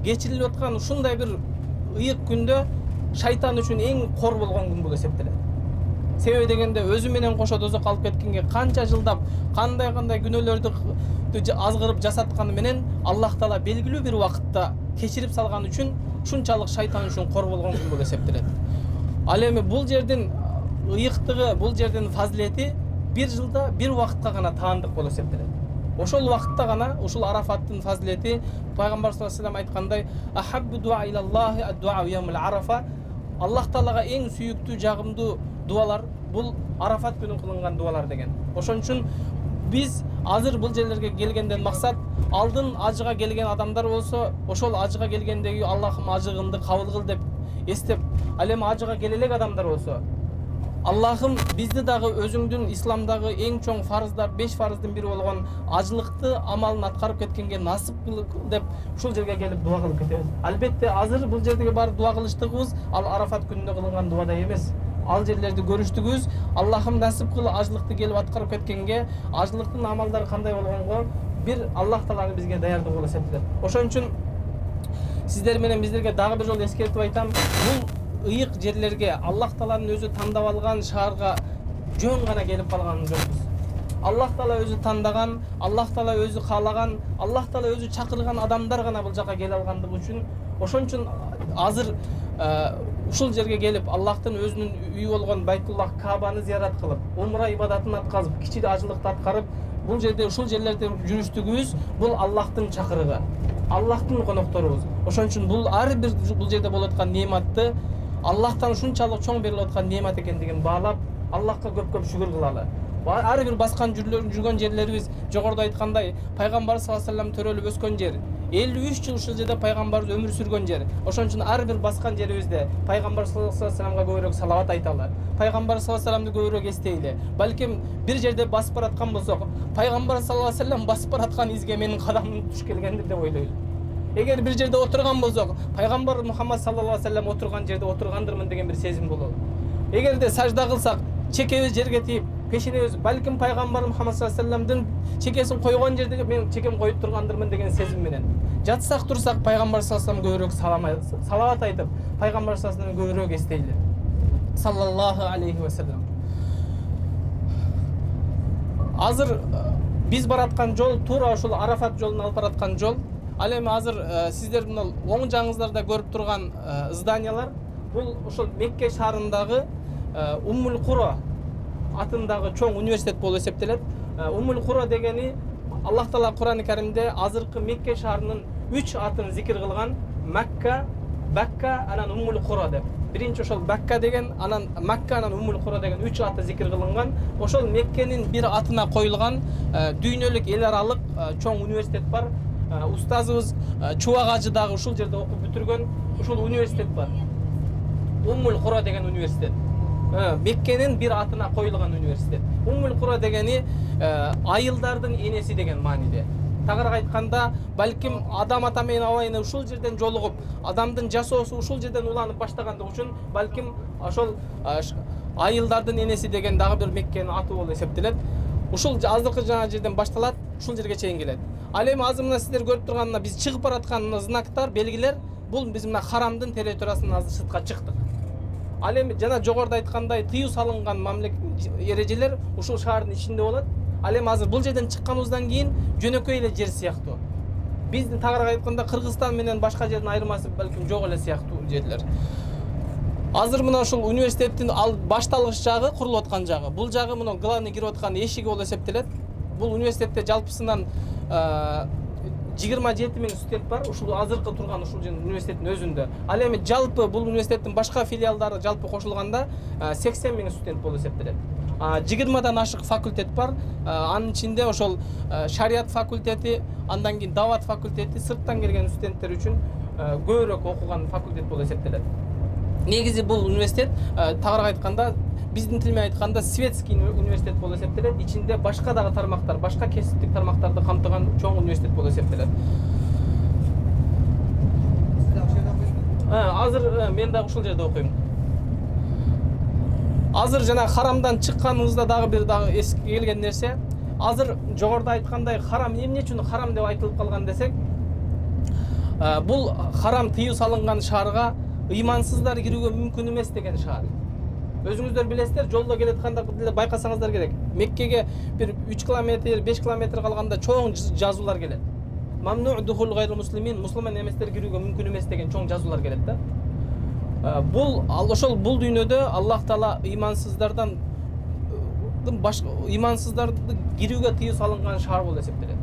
кечирилип аткан ушундай бир ыйык күндө шайтан үчүн эң кор болгон күн болуп эсептелет. Себеби дегенде өзү менен кошо дозокко алып кеткенге канча жылдап кандай күнөөлөрдү азгырып жасатканы менен Аллах Таала белгилүү бир убакытта кечирип салган үчүн ушунчалык шайтан үчүн кор болгон күн болуп эсептелет. Ал эми бул жердин ыйыктыгы, бул жердин фазилети бир жылда бир убакытка гана таандык болуп эсептелет. Ошол убакытта гана ушул Арафаттын фазилети пайгамбар саллаллаху алейхи ва саллям айткандай: "Ахаббу дуа илаллахи ад-дуа яумул Арафа". Аллах Таалага эң сүйүктүү, жагымдуу дуалар бул Арафат күнү кылынган дуалар деген. Ошон үчүн биз азыр бул жерлерге келгенден максат алдын ажыга келген адамдар болсо, ошол ажыга келгендеги Аллахым ажыгымды кабыл кыл деп эстеп, ал эми ажыга келе элек адамдар болсо, Аллахым бизди дагы өзүңдүн исламдагы эң чоң фарыздар, 5 фарыздын бири болгон ажылыкты амалын аткарып кеткенге насып кыл деп ушул жерге келип дуа кылып кетебиз. Албетте азыр бул жердеги бар дуа кылыштыгыбыз ал Арафат күнүндө кылынган дуадай эмес. Ал жерлерди көрүштүгүбүз Аллахым насып кыл ажылыкты келип аткарып кеткенге, ажылыктын амалдары кандай болгонго бир Аллах Тааланы бизге даярдык болуп эсептелет. Ошон үчүн сиздер менен биздерге дагы бир жолу эскертип айтам, бул ыйык жерлерге Аллах Тааланын өзү тандап алган шаарга жөн гана келип калган жокпуз. Аллах Таала өзү тандаган, Аллах Таала өзү каалаган, Аллах Таала өзү чакырган адамдар гана бул жака келе алгандыгы үчүн, ошон үчүн азыр ушул жерге келип Аллахтын өзүнүн үйү болгон Байтуллах Каабаны зиярат кылып, умра ибадатын аткарып, кичи ажылыкты аткарып, бул жерде ушул жерлерде жүрүштүгүбүз бул Аллахтын чакырыгы, Аллахтын конокторубуз. Ошон үчүн бул ар бир бул жерде болуп аткан неаматты Аллахтан ушунчалык чоң берилип аткан неамат экендигин баалап, Аллахка көп-көп шүгүр кылалы. Ар бир баскан жүргөн жерлерибиз жогоруда айткандай, пайгамбар саллаллаху алейхи ва саллям төрөлүп өскөн жер, 53 жыл ушул жерде пайгамбарыбыз өмүр сүргөн жер. Ошон үчүн ар бир баскан жерибизде пайгамбар саллаллаху алейхи ва саллямга көбүрөөк салават айталы, пайгамбар саллаллаху алейхи ва саллямды көбүрөөк эстейли. Балким бир жерде басып бараткан болсок, пайгамбар саллаллаху алейхи ва саллям басып бараткан изге менин кадамым туш келгендир деп ойлойлу. Эгер бир жерде отурган болсок, пайгамбар Мухаммад саллаллаху алейхи ва саллям отурган жерде отургандырмын деген бир сезим болот. Эгерде сажда кылсак, чекебиз жерге тийип, пешенебиз балким пайгамбар Мухаммад саллаллаху алейхи ва саллямдын чекесин койгон жерде мен чекем коюп тургандырмын деген сезим менен жатсак турсак, пайгамбар саллаллаху алейхи ва саллям көбүрөөк салават айтып, пайгамбар саллаллаху алейхи ва саллямды көбүрөөк эстейли. Саллаллаху алейхи ва саллям. Азыр биз бараткан жол туура ушул Арафат жолуна алып бараткан жол. Ал эми азыр сиздер мына оң жагыңыздарда көрүп турган зданиялар бул ошол Мекке шаарындагы Уммул Кура атындагы чоң университет болуп эсептелет. Уммул Кура дегени Аллах Таала Кур'ан-ы Каримде азыркы Мекке шаарынын 3 атын зикир кылган: Макка, Бакка, анан Уммул Кура деп. Биринчи ошол Бакка деген, анан Макка, анан Уммул Кура деген 3 аты зикир кылынган. Ошол Меккенин бир атына коюлган дүйнөлүк эл аралык чоң университет бар. Устазыбыз Чубак ажы дагы ушул жерде окуп бүтүргөн ушул университет бар. Уммул Кура деген университет. Меккенин бир атына коюлган университет. Уммул Кура дегени айылдардын энеси деген мааниде. Тагыраак айтканда, балким адам ата менен абайына ушул жерден жолугуп, адамдын жашоосу ушул жерден уланып баштагандыгы үчүн балким ошол айылдардын энеси деген дагы бир Меккенин аты болуп эсептелет. Ушул азыркы жана жерден башталат, ушул жерге чейин келет. Ал эми азыр мына сиздер көрүп турган биз чыгып бараткан знактар, белгилер, бул биз мына харамдын территориясынан азыр сыртка чыктык. Ал эми жана жогоруда айткандай тыюу салынган эрежелер ушул шаардын ичинде болот. Ал эми азыр бул жерден чыкканыбыздан кийин жөнөкөй эле жер сыяктуу. Биздин тагыраак айтканда Кыргызстан менен башка жердин айырмасы балким жок эле сыяктуу жерлер. Азыр мына ушул университеттин ал башталгыч жагы, курулуп аткан жагы. Бул жагы мына главный кирип аткан эшиги болуп эсептелет. Бул университетте жалпысынан 27 миң студент бар, ушул азыркы турган ушул университеттин өзүндө. Ал эми жалпы бул университеттин башка филиалдары жалпы кошулганда 80 миң студент болуп эсептелет. 20дан ашык факультет бар. Анын ичинде ошол шарият факультети, андан кийин дават факультети, сырттан келген студенттер үчүн көбүрөөк окуган факультет болуп эсептелет. Негизи бул университет тагыраак айтканда, биздин тил менен айтканда светский университет болуп эсептелет. Ичинде башка дагы тармактар, башка кесиптик тармактарды камтыган чоң университет болуп эсептелет. Азыр мен дагы ушул жерде окуйм. Азыр жана харамдан чыкканыбызда дагы бир эске келген нерсе, азыр жогоруда айткандай харам эмне үчүн харам деп айтылып калган десек, бул харам тыюу салынган шаарга ыймансыздар кирүүгө мүмкүн эмес деген шаар. Өзүңүздөр билесиздер, жолдо келатканда деле байкасаңыздар керек. Меккеге бир 3 километр, 5 километр калганда чоң жазуулар келет. Мамну духул гайру муслимин, мусулман эместер кирүүгө мүмкүн эмес деген чоң жазуулар келет да. Бул бул дүйнөдө Аллах Таала имансыздарды кирүүгө тыюу салынган шаар болуп эсептелет.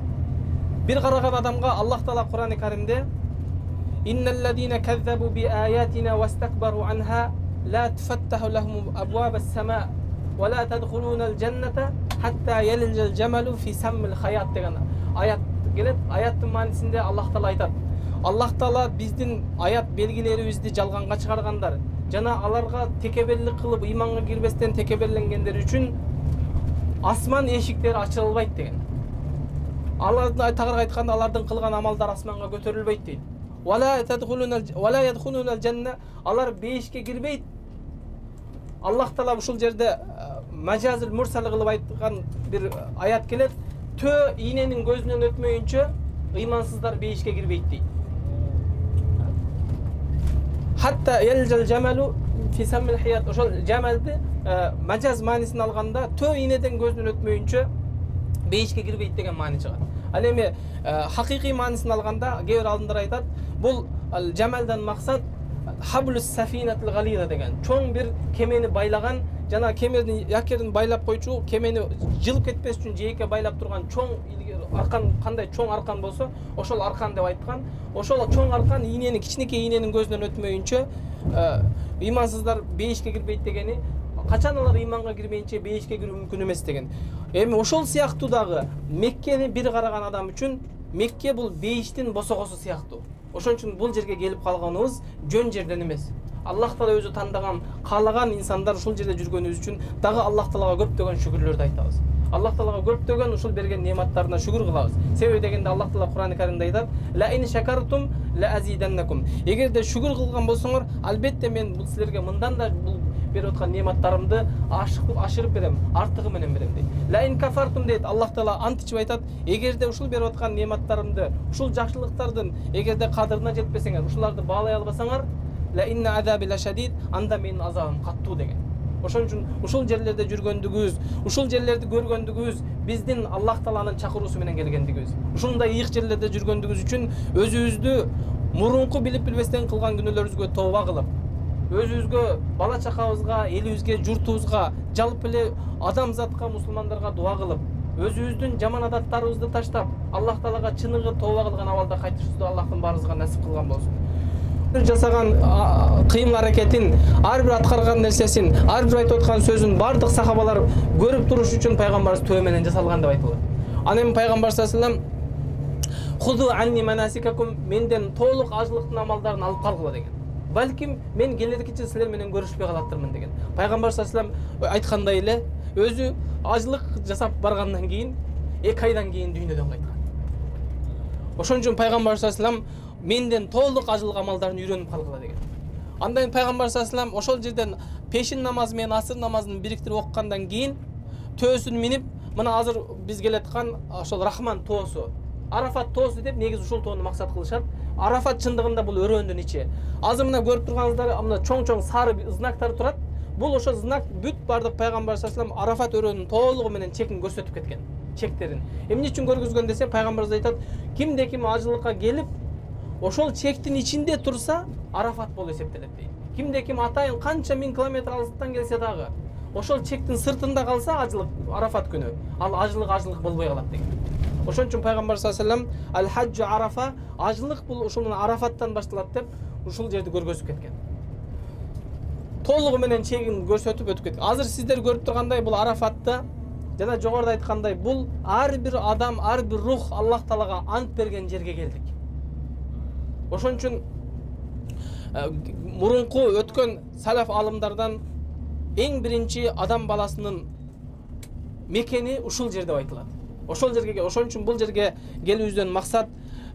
Бир караган адамга Аллах Таала Кур'ан-ы Каримде Инналлазина каззабу би аятина вастакбару анха ла туфаттаху лахум абвабас сама ва ла тадхулунал жанната хатта ялиджал джамалу фи саммил хаят деген аят келет. Аяттын маанисинде Аллах Таала айтат: Аллах Таала биздин аят белгилерибизди жалганга чыгаргандар жана аларга текеберлик кылып ыйманга кирбестен текеберленгендер үчүн асман эшиктери ачылбайт деген. Алардын тагырга айтканда алардын кылган амалдары асманга көтөрүлбөйт дейт. Вала ядхулунал жанна, алар бейишке кирбейт. Аллах Таала ушул жерде мажазил мурсал кылып айткан бир аят келет. Төө ийненин көзүнөн өтмөйүнчө ыймансыздар бейишке кирбейт дейт. Хатта ялжал жамалу фи саммил хаят. Ошол жамалды мажаз маанисин алганда төө ийнеден көзүнөн өтмөйүнчө бейишке кирбейт деген маани чыгат. Ал эми хакыйкый маанисин алганда кээ бир алдындар айтат, бул жамалдан максат хаблус сафинатил галида деген чоң бир кемени байлаган жана кеменин якерин байлап койчу, кемени жылып кетпес үчүн жээкке байлап турган чоң аркан, кандай чоң аркан болсо ошол аркан деп айткан. Ошол чоң аркан ийнени, кичинекей ийненин көзүнөн өтмөйүнчө ыймансыздар бейишке кирбейт дегени, качан алар ыйманга кирмейинче бейишке кирүү мүмкүн эмес деген. Эми ошол сыяктуу дагы Меккени бир караган адам үчүн Мекке бул бейиштин босогосу сыяктуу. Ошон үчүн бул жерге келип калганыбыз жөн жерден эмес. Аллах Таала өзү тандаган, каалаган инсандар ушул жерде жүргөнүбүз үчүн дагы Аллах Таалага көптөгөн шүгүрлөрдү айтабыз. Аллах Таалага көптөгөн ушул берген нематтарына шүгүр кылабыз. Себеби дегенде Аллах Таала Кур'ан-ы Каримде айтат: "Ла ин шакартум ла азиданнакум." Эгерде шүгүр кылган болсоңор, албетте мен бул силерге мындан да бул берип аткан нематтарымды ашырып берем, артыгы менен берем дейт. Ла ин кафартум дейт. Аллах Таала античип айтат: эгерде ушул берип аткан нематтарымды, ушул жакшылыктардын эгерде кадырына жетпесеңер, ушуларды баалай албасаңар, ла инна азаби ла шадид, анда менин азабым каттуу деген. Ошон үчүн ушул жерлерде жүргөндүгүбүз, ушул жерлерди көргөндүгүбүз биздин Аллах Тааланын чакыруусу менен келгендигибиз. Ушундай ыйык жерлерде жүргөндүгүбүз үчүн өзүбүздү мурунку билип билбестен кылган күнөөлөрүбүзгө тооба кылып, өзүбүзгө, бала чакабызга, элибизге, журтубузга, жалпы эле адамзатка, мусулмандарга дуа кылып, өзүбүздүн жаман адаттарыбызды таштап, Аллах Таалага чыныгы тооба кылган абалда кайтышыбызды Аллахтын баарыбызга насип кылган болсун. Жасаган кыймыл аракетин, ар бир аткарган нерсесин, ар бир айтып аткан сөзүн бардык сахабалар көрүп туруш үчүн пайгамбарыбыз төө менен жасалган деп айтылат. Анан эми пайгамбар саллаллаху алейхи вассалам худу анни манасикакум, менден толук ажылыктын амалдарын алып калгыла деген. Балким мен келеркиче силер менен көрүшпөй калаттырмын деген. Пайгамбар саллаллаху алейхи вассалам айткандай эле өзү ажылык жасап баргандан кийин 2 айдан кийин дүйнөдөн кайткан. Ошон үчүн пайгамбар саллаллаху алейхи вассалам менден толук ажылык амалдарын үйрөнүп калгыла деген. Андан пайгамбар саллаллаху алейхи вассалам ошол жерден пешин намазы менен асыр намазын бириктирип окугандан кийин төөсүн минип, мына азыр биз келаткан ошол Рахман тоосу, Арафат тоосу деп негизи ушул тоону максат кылышат. Арафат чындыгында бул өрөөндүн ичи. Азыр мына көрүп турганыңыздар, мына чоң-чоң сары знактар турат. Бул ошо знак бүт бардык пайгамбар саллаллаху алейхи вассалам Арафат өрөөнүн толугу менен чекин көрсөтүп кеткен. Чектерин. Эмне үчүн көргөзгөн десе, пайгамбарыбыз айтат: кимде ким ажылыкка келип, ошол чектин ичинде турса, Арафат болуп эсептелет дейт. Кимде ким атайын канча миң километр алыстан келсе дагы, ошол чектин сыртында калса ажылык Арафат күнү, ал ажылык болбой калат деген. Ошон үчүн пайгамбар саллаллаху алейхи вассалам аль-хаджу Арафа, ажылык бул ушул Арафаттан башталат деп ушул жерди көргөзүп кеткен. Толугу менен чегин көрсөтүп өтүп кеткен. Азыр сиздер көрүп тургандай бул Арафатта жана жогоруда айткандай бул ар бир адам, ар бир рух Аллах Таалага ант берген жерге келдик. Ошон үчүн мурунку өткөн салаф алымдардан эң биринчи адам баласынын мекени ушул жер деп айтылат. Ошол үчүн бул жерге келүүбүздөн максат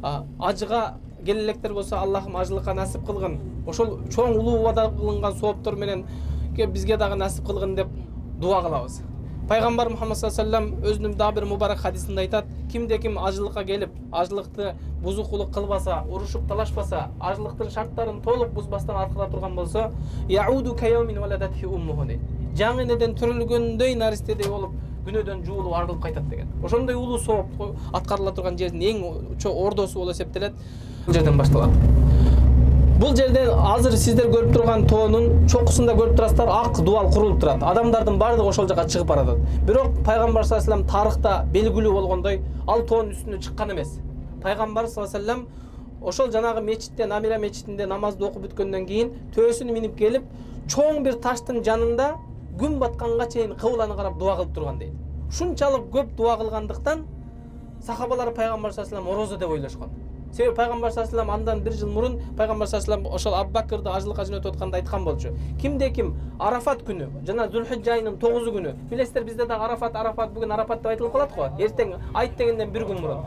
ажыга келелектер болсо Аллахым ажылыкка насип кылгын. Ошол чоң улуу убада кылынган сооптор менен бизге дагы насип кылгын деп дуа кылабыз. Пайгамбар Мухаммад саллаллаху алейхи вассалам өзүнүн дагы бир мубарак хадисинде айтат: кимде ким ажылыкка келип, ажылыкты бузукулук кылбаса, урушуп талашпаса, ажылыктын шарттарын толук бузбастан аткара турган болсо, яуду кайомин валадатхи уммуху. жаңы энеден төрөлгөндөй наристедей болуп күнөөдөн жуулуп арылып кайтат деген. Ошондой улуу сооп аткарыла турган жердин эң ордосу болуп эсептелет. Бул жерден башталат. Бул жерде азыр сиздер көрүп турган тоонун чокусунда көрүп турасыздар, ак дубал курулуп турат. Адамдардын баардыгы ошол жака чыгып баратат. Бирок пайгамбар саллаллаху алейхи вассалам тарыхта белгилүү болгондой ал тоонун үстүнө чыккан эмес. Пайгамбар саллаллаху алейхи вассалам ошол жанагы мечитте, Намира мечитинде намазды окуп бүткөндөн кийин төбөсүнө минип келип, чоң бир таштын жанында күн батканга чейин кыбланы карап дуа кылып турган дейт. Ушунчалык көп дуа кылгандыктан сахабалар пайгамбар саллаллаху алейхи вассалам орозо деп ойлошкон. Себеби пайгамбар саллаллаху алейхи вассалам андан 1 жыл мурун пайгамбар саллаллаху алейхи вассалам ошол Абу Бакырды ажылыкка жөнөтүп атканда айткан болчу. Кимде ким Арафат күнү, жана Зулхижжа айынын 9 күнү. Билесиздер, бизде да Арафат бүгүн Арафат деп айтылып калат го. Эртең айт дегенден 1 күн мурун.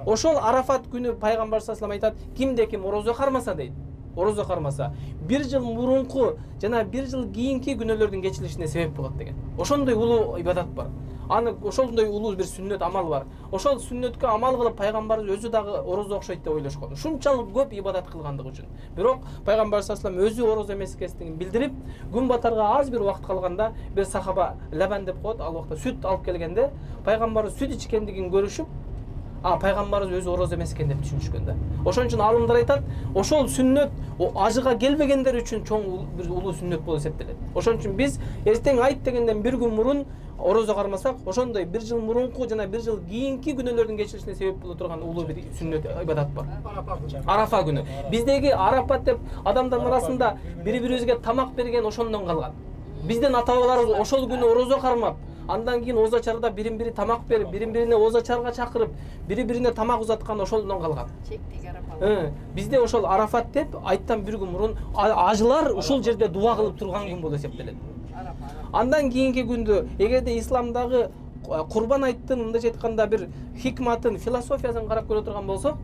Ошол Арафат күнү пайгамбар саллаллаху алейхи вассалам айтат, кимде ким орозо кармаса дейт. Орозо кармаса 1 жыл мурунку жана 1 жыл кийинки күнөөлөрдүн кечирилишине себеп болот деген. Ошондой улуу ибадат бар. Аны ошондой улуу бир сүннөт амал бар. Ошол сүннөткө амал кылып пайгамбарыбыз өзү дагы орозо окшойт деп ойлошкон. Ушунчалык көп ибадат кылгандыгы үчүн. Бирок пайгамбар саллаллаху алейхи вассалам өзү орозо эмес экенин билдирип, күн батарга аз бир убакыт калганда бир сахаба лабан деп коет, ал убакта сүт алып келгенде пайгамбарыбыз сүт ичкендигин көрүшүп, пайгамбарыбыз өзү орозо эмес экен деп түшүнүшкөн да. Ошон үчүн алымдар айтат, ошол сүннөт ажыга келбегендер үчүн чоң бир улуу сүннөт болуп эсептелет. Ошон үчүн биз эртең айт дегенден 1 күн мурун орозо кармасак, ошондой 1 жыл мурунку жана 1 жыл кийинки күнөөлөрдүн кечирилишине себеп боло турган улуу бир сүннөт ибадат бар. Арафа күнү. Биздеги Арафат деп адамдардын арасында бири-бирибизге тамак берген ошондон калган. Биздин ата-бабаларыбыз ошол күнү орозо кармап, андан кийин озачарда бирин-бири тамак берип, бирин-бирине озачарга чакырып, бири-бирине тамак узаткан ошондон калган. Бизде ошол Арафат деп айттан 1 күн мурун ажылар ушул жерде дуа кылып турган күн болуп эсептелет. Андан кийинки күндү эгерде исламдагы курбан айттын, мындайча айтканда бир хикматын, философиясын карап көрө турган болсок,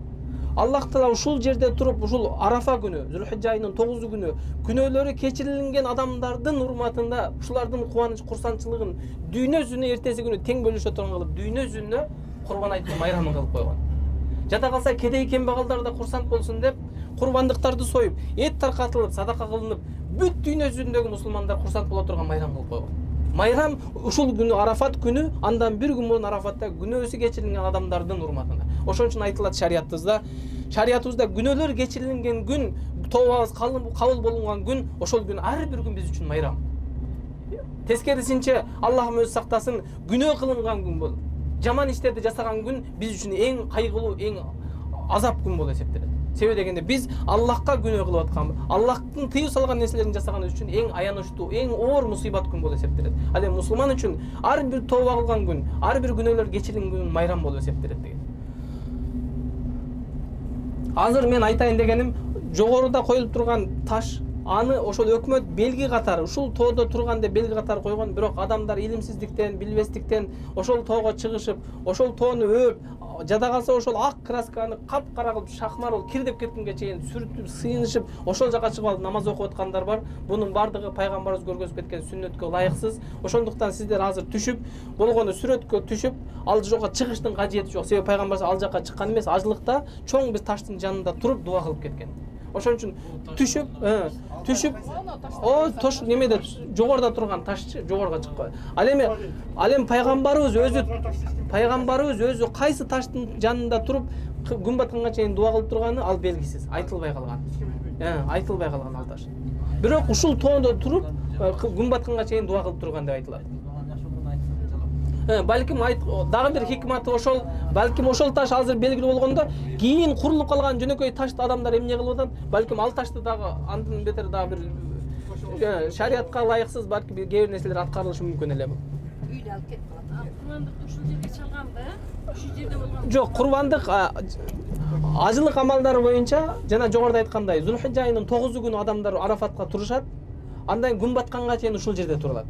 Аллах Таала ушул жерде туруп, ушул Арафа күнү, Зулхижжа айынын 9 күнү күнөөлөрү кечирилген адамдардын урматында ушулардын кубаныч, курсанчылыгын дүйнө жүзүнө эртеси күнү тең бөлүшө турган кылып, дүйнө жүзүнө курбан айттын майрамын кылып койгон. Жада калса кедей кембагалдар да курсант болсун деп курбандыктарды союп, эт таркатылып, садака кылынып, бүт дүйнө жүзүндөгү мусулмандар курсант боло турган майрам кылып койгон. Майрам ушул күнү Арафат күнү, андан 1 күн мурун Арафатта күнөөсү кечирилген адамдардын урматына. Ошон үчүн айтылат шариятыбызда күнөөлөр кечирилген күн, тообабыз кабыл болунган күн, ошол күн ар бир күн биз үчүн майрам. Тескерисинче Аллахым өзү сактасын, күнөө кылынган күн болуп, жаман иштерди жасаган күн биз үчүн эң кайгылуу, эң азап күн болуп эсептелет. Себеби дегенде биз Аллахка күнөө кылып атканбыз. Аллахтын тыюу салган нерселерин жасаганыбыз үчүн эң аянычтуу, эң оор мусибат күн болуп эсептелет. Ал эми мусулман үчүн ар бир тооба кылган күн, ар бир күнөөлөр кечирилген күн майрам болуп эсептелет деген. Азыр мен айтайын дегеним, жогоруда коюлуп турган таш, аны ошол өкмөт белги катары, ушул тоодо турган деп белги катары койгон, бирок адамдар илимсиздиктен, билбестиктен ошол тоого чыгышып, ошол тоону өөп, жада калса ошол ак красканы капкара кылып, шахмар болуп кирдеп кеткенге чейин сүрүтүп, сыйынышып, ошол жака чыгып алып намаз окуп аткандар бар. Бунун бардыгы пайгамбарыбыз көргөзүп кеткен сүннөткө ылайыксыз. Ошондуктан сиздер азыр түшүп, болгону сүрөткө түшүп, ал жака чыгыштын кажети жок. Себеби пайгамбар ал жака чыккан эмес, ажылыкта чоң бир таштын жанында туруп дуа кылып кеткен. Ошон үчүн түшүп, тош немеде жогоруда турган таш жогорга чыкпай. Ал эми пайгамбарыбыз өзү кайсы таштын жанында туруп күн батканга чейин дуа кылып турганы ал белгисиз, айтылбай калган. Айтылбай калган ал таш. Бирок ушул тоодо туруп күн батканга чейин дуа кылып турган деп айтылат. Балким дагы бир хикматы ошол, балким ошол таш азыр белгилүү болгондо, кийин курулуп калган жөнөкөй ташты адамдар эмне кылып атат? Балким ал ташты дагы андан бетер дагы бир шариятка ылайыксыз балким кээ бир нерселер аткарылышы мүмкүн эле. Үйдө алып кетип калат. Курбандыкты ушул жерге чалганды, ушул жерде болгон. Жок, курбандык ажылык амалдары боюнча жана жогоруда айткандай, Зулхижжа айынын 9 күнү адамдар Арафатка турушат, андан күн батканга чейин ушул жерде турулат.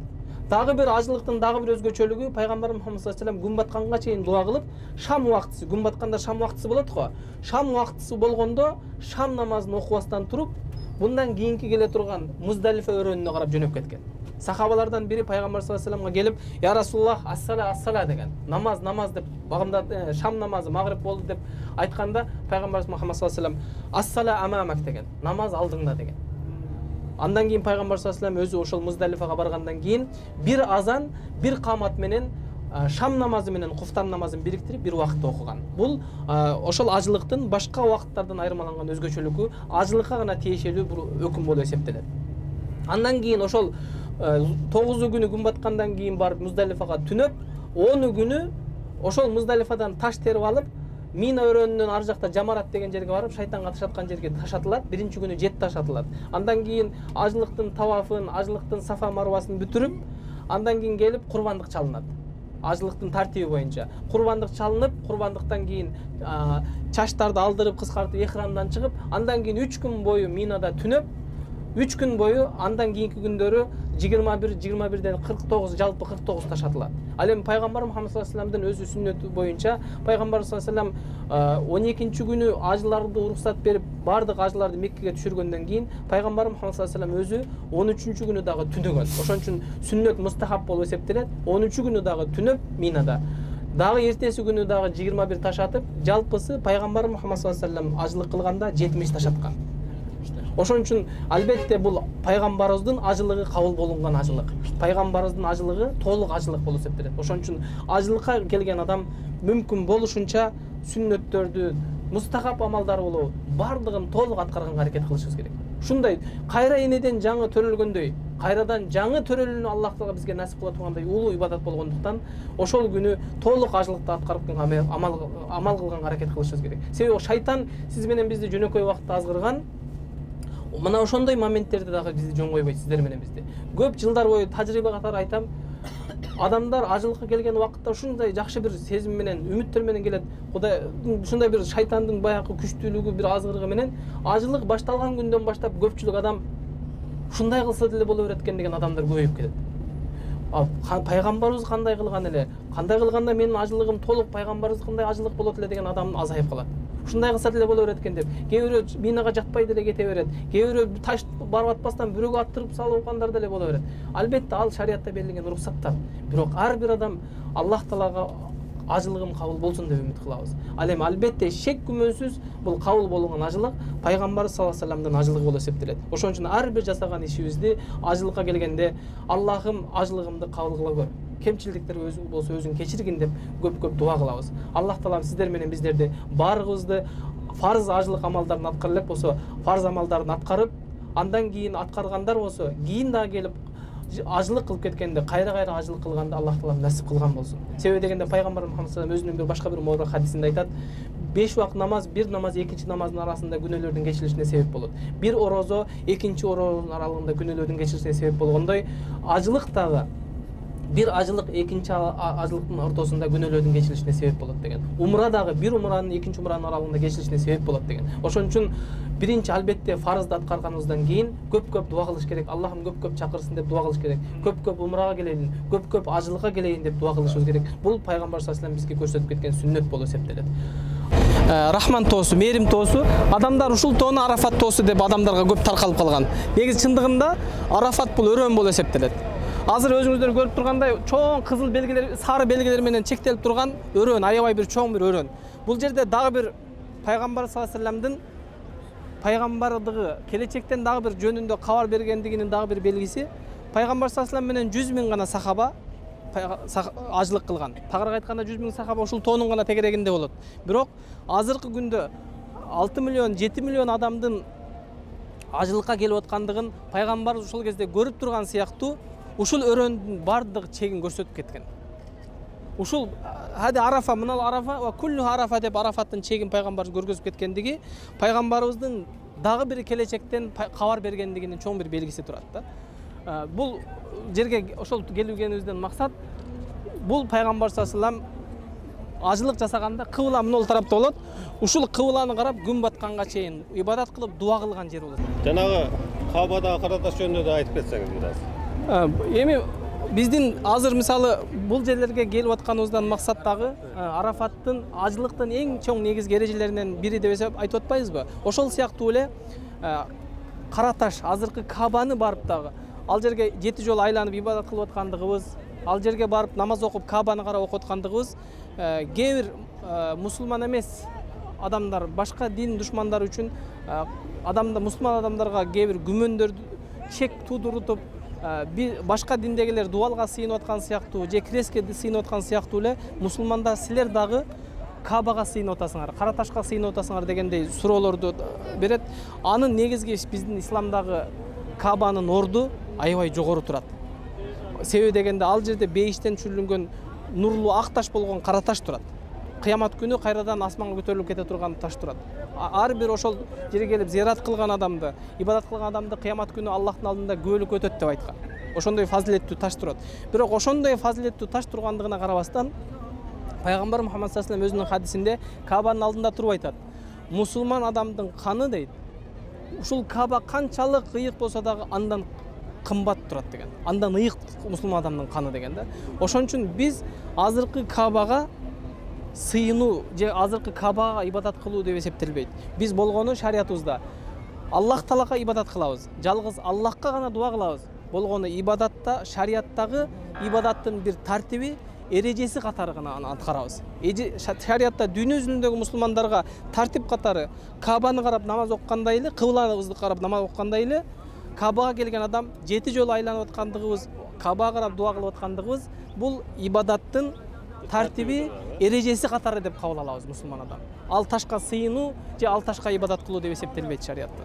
Дагы бир ажылыктын дагы бир өзгөчөлүгү, пайгамбар Мухаммад саллаллаху алейхи вассалам күн батканга чейин дуа кылып, шам убактысы, күн батканда шам убактысы болот го. Шам убактысы болгондо шам намазын окубастан туруп, bundan kийинки келе турган Муздалифа өрөөнүнө карап жөнөп кеткен. Сахабалардан бири пайгамбар саллаллаху алейхи вассаламга келип, "Я Расулуллах, ассала деп, намаз деп, багымда шам намазы магриб болду" деп айтканда, пайгамбарыбыз Мухаммад саллаллаху алейхи вассалам "Ассала амамак" деген, намаз алдыңда деген. Андан кийин пайгамбар саллаллаху алейхи вассалам өзү ошол Муздалифага баргандан кийин бир азан, бир камат менен шам намазы менен куфтан намазын бириктирип бир убакытта окуган. Бул ошол ажылыктын башка убакыттардан айырмаланган өзгөчөлүгү ажылыкка гана тиешелүү бир өкүм болуп эсептелет. Андан кийин ошол 9 күнү күн баткандан кийин барып Муздалифага түнөп, 10 күнү ошол Муздалифадан таш терип алып, Мина өрөөнүнөн ар жакта Жамарат деген жерге барып, шайтанга ташаткан жерге ташатылат. Биринчи күнү 7 ташатылат. Андан кийин ажылыктын тавафын, ажылыктын Сафа Марвасын бүтүрүп, андан кийин келип курбандык чалынат. Ажылыктын тартиби боюнча курбандык чалынып, курбандыктан кийин чачтарды алдырып, кыскартып, эхрамдан чыгып, андан кийин 3 күн бою Минада түнөп, 3 күн бою андан кийинки күндөрү 21-21ден 49, жалпы 49 ташатылат. Ал эми пайгамбар Мухаммад саллаллаху алейхи вассаламдын өзү сүннөтү боюнча пайгамбар саллаллаху алейхи вассалам 12-нчи күнү ажыларды уруксат берип, бардык ажыларды Меккеге түшүргөндөн кийин пайгамбар Мухаммад саллаллаху алейхи вассалам өзү 13-чү күнү дагы түнөгөн. Ошон үчүн сүннөт мустахаб болуп эсептелет. 13-чү күнү дагы түнөп Минада. Дагы эртеси күнү дагы 21 ташатып, жалпысы пайгамбар Мухаммад саллаллаху алейхи вассалам ажылык кылганда 70 ташаткан. Ошон үчүн албетте бул пайгамбарыбыздын ажылыгы кабыл болунган ажылык. Пайгамбарыбыздын ажылыгы толук ажылык болуп эсептелет. Ошон үчүн ажылыкка келген адам мүмкүн болушунча сүннөттөрдү, мустахаб амалдар болобу бардыгын толук аткарганга аракет кылышыбыз керек. Ушундай кайра энеден жаңы төрөлгөндөй, кайрадан жаңы төрөлүүнү Аллах Таала бизге насип кыла тургандай улуу ибадат болгондуктан ошол күнү толук ажылыкты аткарып амал кылганга аракет кылышыбыз керек. Себеби шайтан сиз менен бизди жөнөкөй убакытта азгырган. Мына ошондой моменттерде дагы бизди жөн койбойт, сиздер менен бизди. Көп жылдар бою тажрыйба катары айтам. Адамдар ажылыкка келген убакытта ушундай жакшы бир сезим менен, үмүттөр менен келет. Кудай ушундай бир шайтандын баягы күчтүүлүгү, бир азгырыгы менен ажылык башталган күндөн баштап көпчүлүк адам ушундай кылса деле боло берет экен деген адамдар көбөйүп кетет. Пайгамбарыбыз кандай кылган эле, кандай кылганда менин ажылыгым толук пайгамбарыбыз кандай ажылык болот эле деген адам азайып калат. Ушундай кылса деле боло берет экен деп. Кээ бирөө Минага жатпай деле кете берет. Кээ бирөө таш барып атпастан бирөөгө аттырып салып алгандар деле боло берет. Албетте ал шариатта берилген уруксаттар. Бирок ар бир адам Аллах Таалага ажылыгым кабыл болсун деп үмүт кылабыз. Ал эми албетте шек күмөнсүз бул кабыл болгон ажылык пайгамбар саллаллаху алейхи вассаламдын ажылыгы болуп эсептелет. Ошон үчүн ар бир жасаган ишибизди ажылыкка келгенде Аллахым ажылыгымды кабыл кыла көр. Кемчилдиктер өзүң болсо өзүң кечиргин деп көп дуа кылабыз. Аллах Таалам сиздер менен биздерди баарыбызды фарз ажылык амалдарын аткара элек болсо, фарз амалдарын аткарып, андан кийин аткаргандар болсо, кийин дагы келип ажылык кылып кеткенде кайра ажылык кылганды Аллах Таалам насип кылган болсун. Себеби дегенде пайгамбар Мухаммад саллаллаху алейхи вассалам өзүнүн башка бир мобарак хадисинде айтат: 5 убакыт намаз бир намаз экинчи намаздын арасында күнөөлөрдүн кечирилишине себеп болот. Бир орозо экинчи орозонун аралыгында күнөөлөрдүн кечирилишине себеп болгондой, ажылык дагы бир ажылык экинчи ажылыктын ортосунда күнөөлөрдүн кечирилишине себеп болот деген. Умра дагы бир умранын экинчи умранын аралыгында кечирилишине себеп болот деген. Ошон үчүн биринчи албетте фарызды аткарганыбыздан кийин көп дуа кылыш керек. Аллахым көп чакырсын деп дуа кылыш керек. Көп умрага келейин, көп ажылыкка келейин деп дуа кылышыбыз керек. Бул пайгамбар саллаллаху алейхи вассалам бизге көрсөтүп кеткен сүннөт болуп эсептелет. Рахман тоосу, мээрим тоосу, адамдар ушул тоону Арафат тоосу деп адамдарга көп таркалып калган. Негизи чындыгында Арафат бул өрөөн болуп эсептелет. Азыр өзүңүздөр көрүп тургандай чоң кызыл белгилер, сары белгилер менен чектелип турган өрөөн, аябай бир чоң бир өрөөн. Бул жерде дагы бир пайгамбар саллаллаху алейхи вассаламдын пайгамбардыгы, келечектен дагы бир жөнүндө кабар бергендигинин дагы бир белгиси, пайгамбар саллаллаху алейхи вассалам менен 100 000 гана сахаба ажылык кылган. Тагыраак айтканда 100 000 сахаба ушул тоонун гана тегерегинде болот. Бирок азыркы күндө 6 миллион, 7 миллион адамдын ажылыкка келип аткандыгын пайгамбар ушул кезде көрүп турган сыяктуу ушул өрөөндүн бардык чегин көрсөтүп кеткен. Ушул хади Арафа, мына Арафа ва куллу Арафа деп Арафаттын чегин пайгамбар көргөзүп кеткендиги пайгамбарыбыздын дагы бир келечектен кабар бергендигинин чоң бир белгиси турат да. Бул жерге ошол келгенибизден максат бул пайгамбар саллаллаху алейхи вассалам ажылык жасаганда кыбла мына тарапта болот. Ушул кыбланы карап күн батканга чейин ибадат кылып дуа кылган жер болот. Жанагы Кабадагы караташ жөнүндө да айтып кетсеңиз бираз. Эми биздин азыр мисалы бул жерлерге келип атканыбыздан максат дагы Арафаттын ажылыктын эң чоң негизги эрежелеринен бири деп айтып атпайбызбы? Ошол сыяктуу эле Караташ азыркы Кабаны барып дагы ал жерге 7 жолу айланып ибадат кылып аткандыгыбыз, ал жерге барып намаз окуп Кабаны карап окуп аткандыгыбыз кээ бир мусулман эмес адамдар, башка дин душмандары үчүн мусулман адамдарга кээ бир күмөндөрдү чек туудурутуп башка диндегилер дубалга сыйынып аткан сыяктуу же крестке сыйынып аткан сыяктуу эле мусулмандар силер дагы Кабага сыйынып атасыңар, кара ташка сыйынып атасыңар дегендей суроолорду берет. Анын негизги биздин исламдагы Кабанын орду аябай жогору турат. Себеби дегенде ал жерде бейиштен түшүрүлгөн нурлуу ак таш болгон кара таш турат. Кыямат күнү кайрадан асманга көтөрүлүп кете турган таш турат. Ар бир ошол жерге келип зиярат кылган адамды, ибадат кылган адамды кыямат күнү Аллахтын алдында күбөлүк өтөт деп айткан. Ошондой фазилеттүү таш турат. Бирок ошондой фазилеттүү таш тургандыгына карабастан Пайгамбар Мухаммад саллаллаху алейхи вассалам өзүнүн хадисинде Кабанын алдында туруп айтат. Мусулман адамдын каны дейт. Ушул Каба канчалык ыйык болсо дагы андан кымбат турат деген. Андан ыйык мусулман адамдын каны деген да. Ошон үчүн биз азыркы Кабага сыйынуу же азыркы Кабага ибадат кылуу деп эсептелбейт. Биз болгону шариятыбызда Аллах Таалага ибадат кылабыз. Жалгыз Аллахка гана дуа кылабыз. Болгону ибадатта, шариаттагы ибадаттын бир тартиби, эрежеси катары гана аны аткарабыз. Шариатта дүйнө жүзүндөгү мусулмандарга тартип катары Кабаны карап намаз окугандай эле, кыблабызды карап намаз окугандай эле, Кабага келген адам 7 жолу айланып аткандыгыбыз, Кабага карап дуа кылып аткандыгыбыз бул ибадаттын тартиби, эрежеси катары деп кабыл алабыз мусулман адам. Ал ташка сыйынуу же ал ташка ибадат кылуу деп эсептелбейт шариатта.